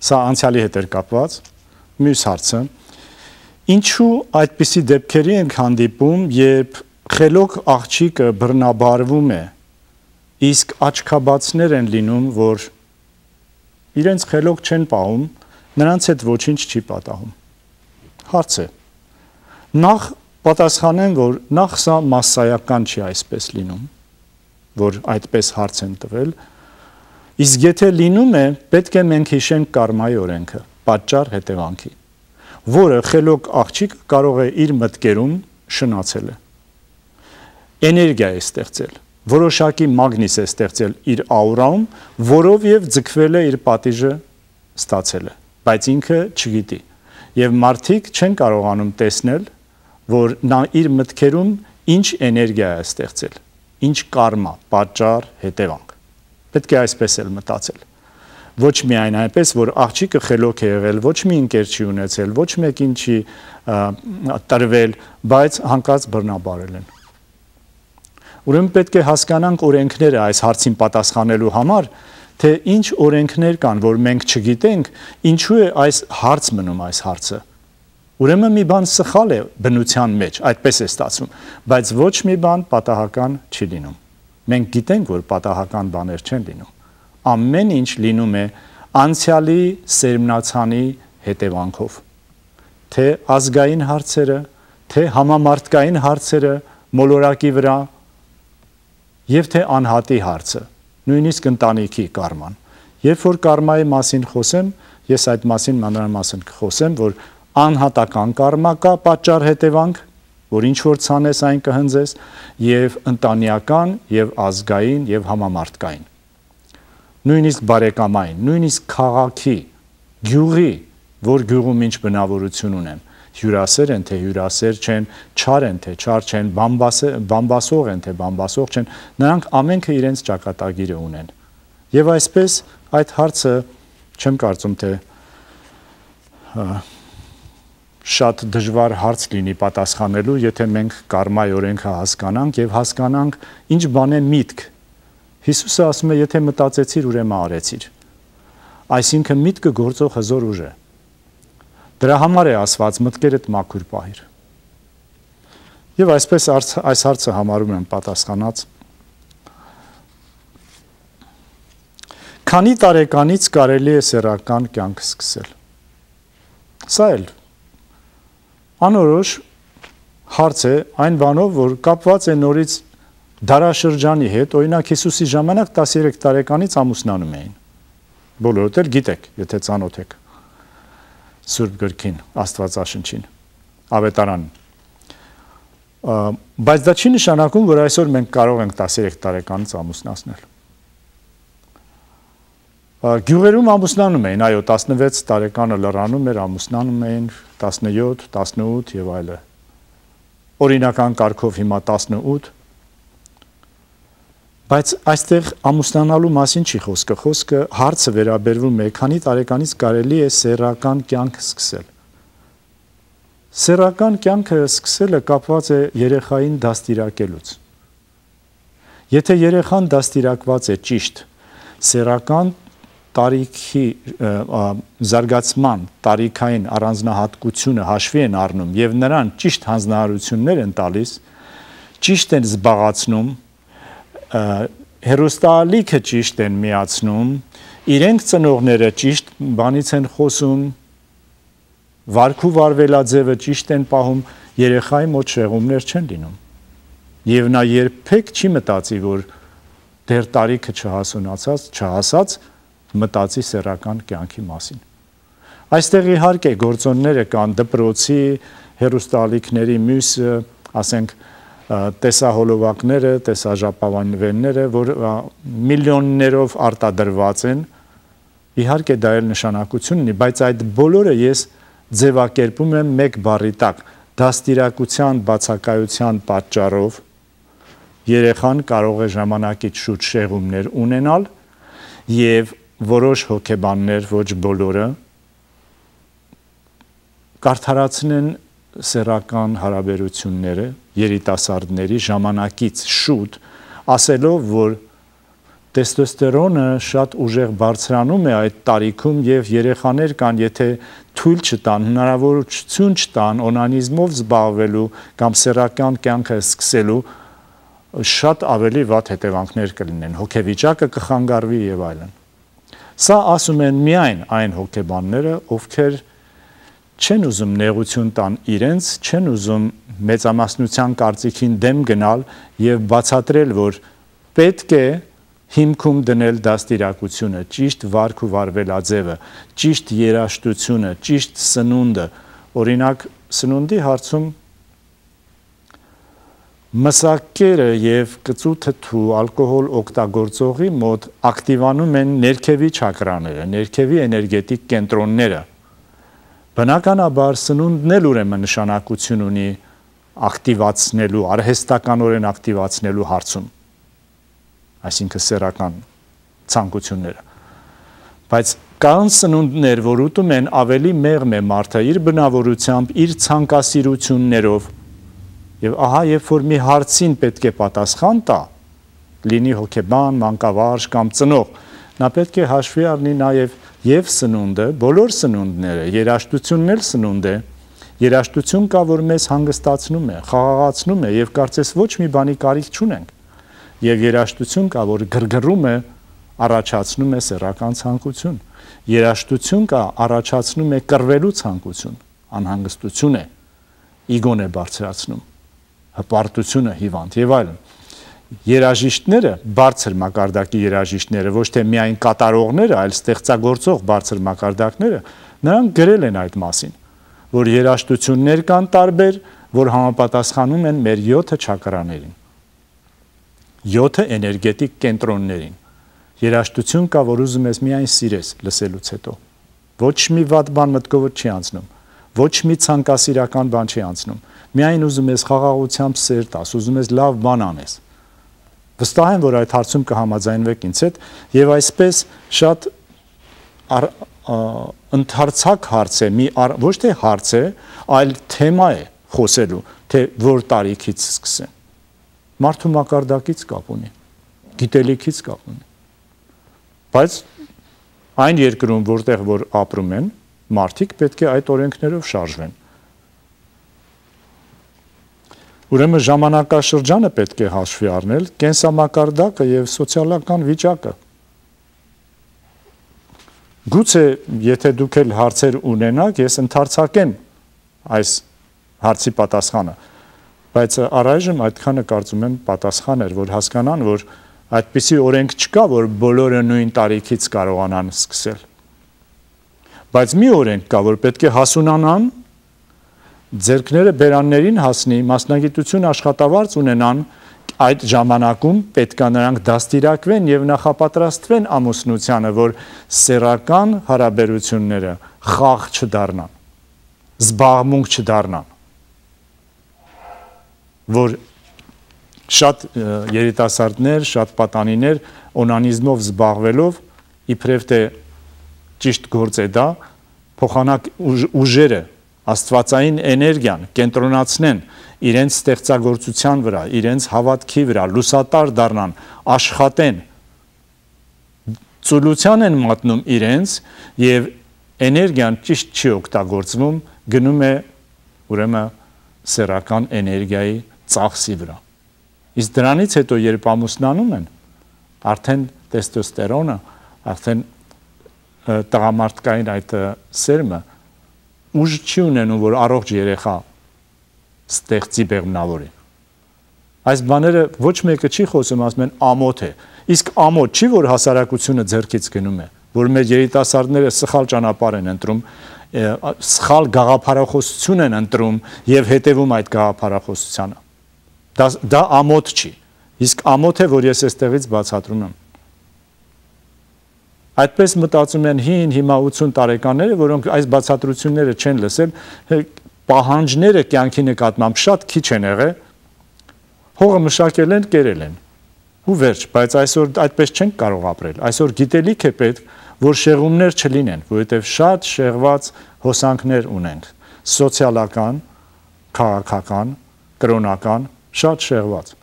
սա անցյալի հետ էր կապված, մյուս հարցը, ինչու այդպիսի դեպքերի ենք հանդիպում, երբ խելոք աղջիկը բռնաբարվում է, իսկ աչքաբացներ են լինում, որ իրենց խելոք չեն պահում, նրանց հետ ոչինչ չի պատահում։ Հարց է։ Նախ պատասխանեմ, որ նախ սա մասսայական չի այսպես լինում, որ այդպես հարց են տվել, իսկ եթե լինում է, պետք է մենք հիշենք կարմայի օրենքը, պատճառ հետևանքի, որը խելոք աղջիկ կարող է իր մտքերում շնացել է։ Էներգիա է ստեղծել, որոշակի մագնիս է ստեղծել իր աուրայում, որով եւ ձգվել է իր պատիժը ստացել է, բայց ինքը չգիտի։ Եվ մարդիկ չեն կարողանում տեսնել, որ նա իր մտքերում ինչ էներգիա է ստեղծել, ինչ կարմա, պատճառ, հետևանք։ Պետք է այսպես էլ մտածել։ Ոչ միայն այնպես, որ աղջիկը խելոք է եղել, ոչ մի ընկեր չի ունեցել, ոչ մեկին չի տրվել, բայց հանկարծ բռնաբարել են։ Ուրեմն պետք է հասկանանք օրենքները այս հարցին պատասխանելու համար, թե ինչ օրենքներ կան, որ մենք չգիտենք, ինչու է այս հարց մնում այս հարցը։ Ուրեմն մի բան սխալ է բնության մեջ, այդպես է ստացվում, բայց ոչ մի բան պատահական չի լինում։ Մենք գիտենք, որ պատահական բաներ չեն լինում։ Ամեն ինչ լինում է անցյալի սերմնացանի հետևանքով։ Թե ազգային հարցերը, թե համամարտկային հարցերը մոլորակի վրա, եւ թե անհատի հարցը, նույնիսկ ընտանիքի կարման։ Երբ որ կարմայի մասին խոսեմ, ես այդ մասին մանրամասն կխոսեմ, որ անհատական կարմա կա, պատճառ հետևանք, որ ինչ որ ցանես այն կհնձես, եւ ընտանեկան, եւ ազգային, եւ համամարտկային։ Նույնիսկ բարեկամային, նույնիսկ քաղաքի, գյուղի, որ գյուղում ինչ բնավորություն ունեն, հյուրասեր են, թե հյուրասեր չեն, չար են, թե չար չեն, բամբասող են, թե բամբասող չեն, նրանք ամենքը իրենց ճակատագիրը ունեն։ Եվ այսպես այդ հարցը չեմ կարծում, թե շատ դժվար հարց լինի պատասխանելու, եթե մենք կարմայի օրենքը հասկանանք եւ հասկանանք ինչ բան է միտք։ Հիսուսը ասում է, եթե մտածեցիր, ուրեմն արեցիր։ Այսինքն միտքը գործող հզոր ուժ է։ Դրա համար է ասված մտքերդ մաքուր պահիր։ Եվ այսպես այս հարցը համարում եմ պատասխանած։ Քանի տարեկանից կարելի է սեռական կյանք սկսել։ Սա էլ անորոշ հարց է այն բանով, որ կապված է նորից դարաշրջանի հետ, օրինակ Հիսուսի ժամանակ տասներեք տարեկանից ամուսնանում էին։ Բոլորդ էլ գիտեք, եթե ծանոթ եք Սուրբ գրքին, Աստվածաշնչին, Ավետարանին։ Բայց դա չի նշանակում, որ այսօր մենք կարող ենք տասներեք տարեկանից ամուսնացնել։ Գյուղերում ամուսնանում էին, այո, տասնվեց տարեկանը լռանում էր, ամուսնանում էին, տասնյոթ, տասնութ եւ այլը։ Օրինական կարգով հիմա տասնութ։ Բայց այստեղ ամուսնանալու մասին չի խոսքը, խոսքը հարցը վերաբերվում է, քանի տարեկանից կարելի է սեռական կյանք սկսել։ Սեռական կյանքը սկսելը կապված է երեխային դաստիարակելուց։ Եթե երեխան դաստիարակված է ճիշտ, սեռական տարիքի զարգացման տարիքային առանձնահատկությունը հաշվի են առնում եւ նրան ճիշտ հանձնարարություններ են տալիս, ճիշտ են զբաղացնում, հերոստալիքը ճիշտ են միացնում, իրենք ծնողները ճիշտ բանից են խոսում, վարքու վարվելաձևը ճիշտ են պահում, երեխայի մոտ շեղումներ չեն լինում։ Եվ նա երբեք չի մտածի, որ դեռ տարիքը չհասունացած, չհասած մտածի սեռական կյանքի մասին։ Այստեղ իհարկե գործոնները կան դպրոցի, հերոստալիքների մյուս, ասենք, տեսահոլովակները, տեսաժապավենները, որ միլիոններով արտադրված են, իհարկե դա էլ նշանակություն ունի, բայց այդ բոլորը ես ձևակերպում եմ մեկ բառի տակ, դաստիարակության բացակայության պատճառով երեխան կարող է ժամանակից շուտ շեղումներ ունենալ եւ որոշ հոգեբաններ, ոչ բոլորը, կարդարացնեն սեռական հարաբերությունները երիտասարդների ժամանակից շուտ, ասելով, որ տեստոստերոնը շատ ուժեղ բարձրանում է այդ տարիքում եւ երեխաներ կան, եթե թույլ չտան, հնարավորություն չտան օնանիզմով զբաղվելու կամ սեռական կյանքը սկսելու, շատ ավելի վատ հետևանքներ կլինեն, հոգեվիճակը կխանգարվի եւ այլն։ Սա ասում են միայն այն հոգեբանները, ովքեր չեն ուզում նեղություն տան իրենց, չեն ուզում մեծամասնության կարծիքին դեմ գնալ եւ բացատրել, որ պետք է հիմքում դնել դաստիարակությունը, ճիշտ վարք ու վարվելաձևը, ճիշտ երաժշտությունը, ճիշտ սնունդը, օրինակ սնունդի հարցում մսակերը եւ կծու ալկոհոլ օգտագործողի մոտ ակտիվանում են ներքևի չակրաները, ներքևի էներգետիկ կենտրոնները։ Բնականաբար սնունդն էլ ուրեմն նշանակություն ունի ակտիվացնելու, արհեստականորեն ակտիվացնելու հարցում, այսինքն սեռական ցանկությունները։ Բայց կան սնունդներ, որ ուտում են ավելի մեղմ է մարդը իր բնավորությամբ, իր ցանկասիրություններով, եւ ահա երբ որ մի հարցին պետք է պատասխան տա, լինի հոգեբան, մանկավարժ կամ ծնող, նա պետք է հաշվի առնի նաեւ եւ սնունդը, բոլոր սնունդները, երաժշտությունն էլ սնունդ է, երաժշտություն կա, որ մեզ հանգստացնում է, խաղաղացնում է եւ կարծես ոչ մի բանի կարիք չունենք։ Եվ երաժշտություն կա, որ գրգռում է, առաջացնում է սեռական ցանկություն։ Երաժշտություն կա, առաջացնում է կռվելու ցանկություն, անհանգստություն է, իգոն է բարձրացնում, հպարտությունը հիվանդ եւ այլն։ Երաժիշտները, բարձր մակարդակի երաժիշտները, ոչ թե միայն կատարողները, այլ ստեղծագործող բարձր մակարդակները, նրանք գրել են այդ մասին, որ երաժշտություններ կան տարբեր, որ համապատասխանում են մեր յոթ չակրաներին, յոթ էներգետիկ կենտրոններին։ Երաժշտություն կա, որ ուզում ես միայն սիրես լսելուց հետո։ Ոչ մի վատ բան մտքովդ չի անցնում, ոչ մի ցանկասիրական բան չի անցնում։ Միայն ուզում ես խաղաղությամբ սեր տաս, ուզում ես լավ բան անես։ Վստահ եմ, որ այդ հարցում կհամաձայնվեք ինձ հետ, եւ այսպես շատ ընդհանրացակ հարց է, մի ոչ թե հարց է, այլ թեմա է խոսելու, թե որ տարիքից սկսեն։ Մարդու մակարդակից կապ ունի, գիտելիքից կապ ունի։ Բայց այն երկրում, որտեղ որ ապրում են, մարդիկ պետք է այդ օրենքներով շարժվեն։ Ուրեմն ժամանակաշրջանը պետք է հաշվի առնել, կենսամակարդակը եւ սոցիալական վիճակը։ Գուցե, եթե դուք էլ հարցեր ունենաք, ես ընդարձակեմ այս հարցի պատասխանը, բայց առայժմ այդքանը կարծում եմ պատասխան էր, որ հասկանան, որ այդպիսի օրենք չկա, որ բոլորը նույն տարիքից կարողանան սկսել։ Բայց մի օրենք կա, որ պետք է հասունանան, ձեռքները բերաններին հասնի, մասնագիտություն աշխատավարձ ունենան, այդ ժամանակում պետք է նրանք դաստիարակվեն եւ նախապատրաստվեն ամուսնությանը, որ սեռական հարաբերությունները խաղ չդառնան, զբաղմունք չդառնան, որ շատ երիտասարդներ, շատ պատանիներ օնանիզմով զբաղվելով իբրև թե ճիշտ գործ է դա, փոխանակ ուժերը, աստվածային էներգիան կենտրոնացնեն իրենց ստեղծագործության վրա, իրենց հավատքի վրա, լուսատար դառնան, աշխատեն, ծուլության են մատնում իրենց եւ էներգիան ճիշտ չի օգտագործվում, գնում է ուրեմն սեռական էներգիայի ծախսի վրա։ Իսկ դրանից հետո երբ ամուսնանում են, արդեն տեստոստերոնը, արդեն տղամարդկային այդ սերմը ուժ չի ունենում, որ առողջ երեխա ստեղծի բեղմնավորի։ Այս բաները ոչ մեկը չի խոսում, ասում են ամոթ է։ Իսկ ամոթ չի, որ հասարակությունը ձեռքից գնում է, որ մեր երիտասարդները սխալ ճանապարհ են ընտրում, սխալ գաղափարախոսություն են ընտրում եւ հետևում այդ գաղափարախոսությանը։ Դա դա ամոթ չի։ Իսկ ամոթ է, որ ես այստեղից բացատրում եմ։ Այդպես մտածում են հին հիմա ութսուն տարեկանները, որոնք այս բացատրությունները չեն լսել, պահանջները կյանքի նկատմամբ շատ քիչ են եղել, հողը մշակել են, կերել են։ Ու վերջ, բայց այսօր այդպես չենք կարող ապրել։ Այսօր գիտելիք է պետք, որ շեղումներ չլինեն, որովհետև շատ շեղված հոսանքներ ունենք, սոցիալական, քաղաքական, կրոնական, շատ շեղված։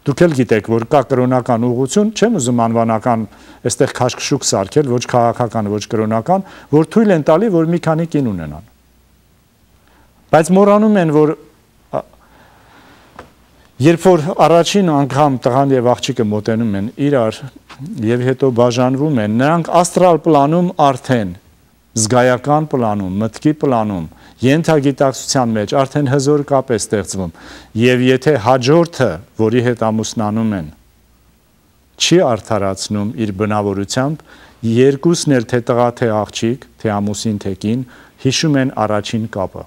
Դուք էլ գիտեք, որ կա կրոնական ուղղություն, չեմ ուզում անվանական այստեղ քաշքշուկ սարքել, ոչ քաղաքական, ոչ կրոնական, որ թույլ են տալի, որ մի քանի կին ունենան։ Բայց մոռանում են, որ երբ որ առաջին անգամ տղան եւ աղջիկը մոտենում են իրար եւ հետո բաժանվում են, նրանք աստրալ պլանում արդեն, զգայական պլանում, մտքի պլանում, ենթագիտակցության մեջ արդեն հզոր կապ է ստեղծվում եւ եթե հաջորդը, որի հետ ամուսնանում են, չի արդարացնում իր բնավորությամբ, երկուսն էլ թե տղա թե աղջիկ, թե ամուսին թե կին, հիշում են առաջին կապը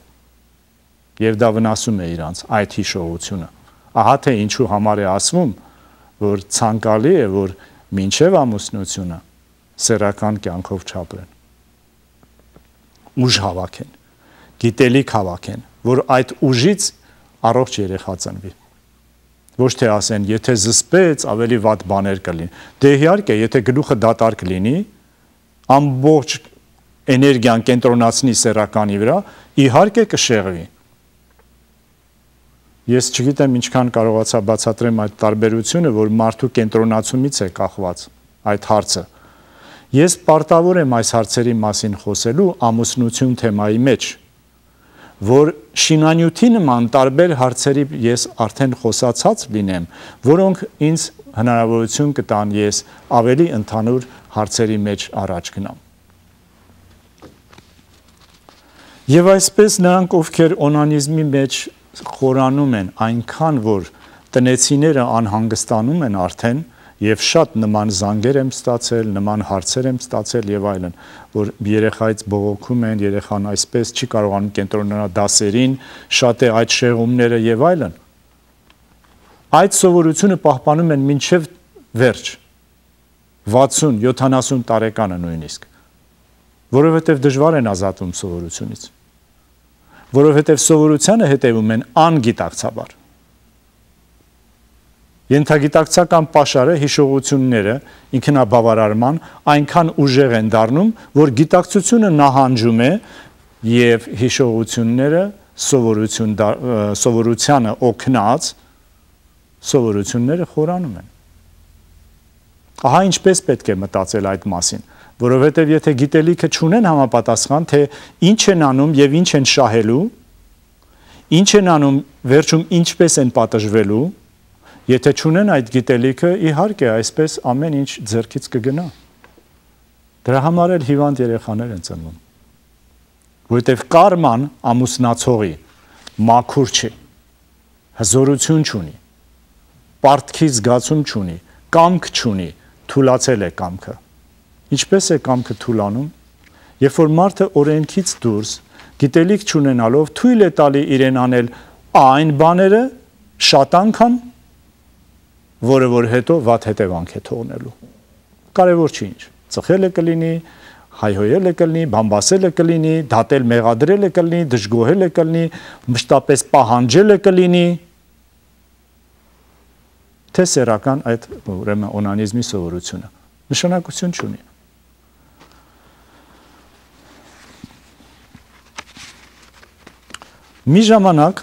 եւ դա վնասում է իրանց այդ հիշողությունը։ Ահա թե ինչու համար է ասվում, որ ցանկալի է, որ մինչև ամուսնությունը սեռական կյանքով չապրեն։ Ուժ հավաքեն, գիտելիք հավաքեն, որ այդ ուժից առողջ երեխա ծնվի։ Ոչ թե ասեն, եթե զսպեց, ավելի վատ բաներ կլինի։ Դե իհարկե, եթե գլուխը դատարկ լինի, ամբողջ էներգիան կենտրոնացնի սեռականի վրա, իհարկե կշեղվի։ Ես չգիտեմ ինչքան կարողացա բացատրեմ այդ տարբերությունը, որ մարդու կենտրոնացումից է կախված այդ հարցը։ Ես պարտավոր եմ այս հարցերի մասին խոսելու ամուսնություն թեմայի մեջ, որ շինանյութի նման տարբեր հարցերի ես արդեն խոսացած լինեմ, որոնք ինձ հնարավորություն կտան ես ավելի ընդհանուր հարցերի մեջ առաջ գնամ։ Եվ այսպես նրանք, ովքեր օնանիզմի մեջ խորանում են այնքան, որ տնեցիները անհանգստանում են արդեն եւ շատ նման զանգեր եմ ստացել, նման հարցեր եմ ստացել եւ այլն, որ երեխայից բողոքում են, երեխան այսպես չի կարողանում կենտրոնանալ դասերին, շատ է այդ շեղումները եւ այլն։ Այդ սովորությունը պահպանում են մինչեւ վերջ, վաթսուն յոթանասուն տարեկանը նույնիսկ, որովհետեւ դժվար են ազատվում սովորությունից, որովհետև սովորությանը հետևում են անգիտակցաբար։ Ենթագիտակցական պաշարը, հիշողությունները, ինքնաբավարարման այնքան ուժեղ են դառնում, որ գիտակցությունը նահանջում է եւ հիշողությունները սովորություն սովորությանը օգնած սովորությունները խորանում են։ Ահա ինչպես պետք է մտածել այդ մասին, որովհետև եթե գիտելիքը չունեն համապատասխան, թե ինչ են անում եւ ինչ են շահելու, ինչ են անում, վերջում ինչպես են պատժվելու, եթե չունեն այդ գիտելիքը, իհարկե այսպես ամեն ինչ ձեռքից կգնա։ Դրա համար էլ հիվանդ երեխաներ են ծնվում։ Որովհետև կարման ամուսնացողի մաքուր չի, հզորություն չունի, պարտքի զգացում չունի, կամք չունի, թուլացել է կամքը։ Ինչպես է կամքը թուլանում, երբ որ մարդը օրենքից դուրս, գիտելիք չունենալով թույլ է տալի իրեն անել այն բաները շատ անգամ, որը որ հետո վատ հետևանք է թողնելու։ Կարևոր չի ինչ, ծխել է կլինի, հայհոյել է կլինի, բամբասել է կլինի, դատել մեղադրել է կլինի, դժգոհել է կլինի, մշտապես պահանջել է կլինի, թե սեռական այդ ուրեմն օնանիզմի սովորությունը նշանակություն չունի։ Մի ժամանակ,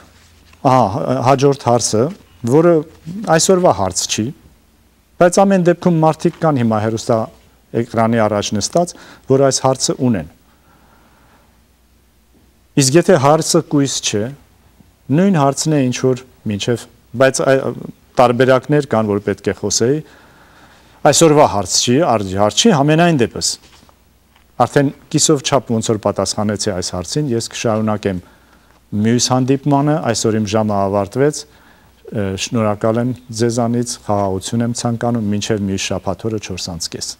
ահա, հաջորդ հարցը, որը այսօրվա հարց չի, Բայց ամեն դեպքում մարդիկ կան հիմա հեռուստա էկրանի առաջ նստած, որ այս հարցը ունեն։ Իսկ եթե հարցը կույս չէ, նույն հարցն է ինչ որ մինչև, բայց տարբերակներ կան, որ պետք է խոսեի, այսօրվա հարց չի, հարց չի, համենայն դեպս։ Արդեն կիսով չափ ոնց որ պատասխանեցի այս հարցին, ես կշարունակեմ մյուս հանդիպմանը, այսօր իմ ժամը ավարտվեց, շնորհակալ եմ ձեզանից, խաղաղություն եմ ցանկանում, մինչև մյուս շաբաթ օրը չորս անց կես։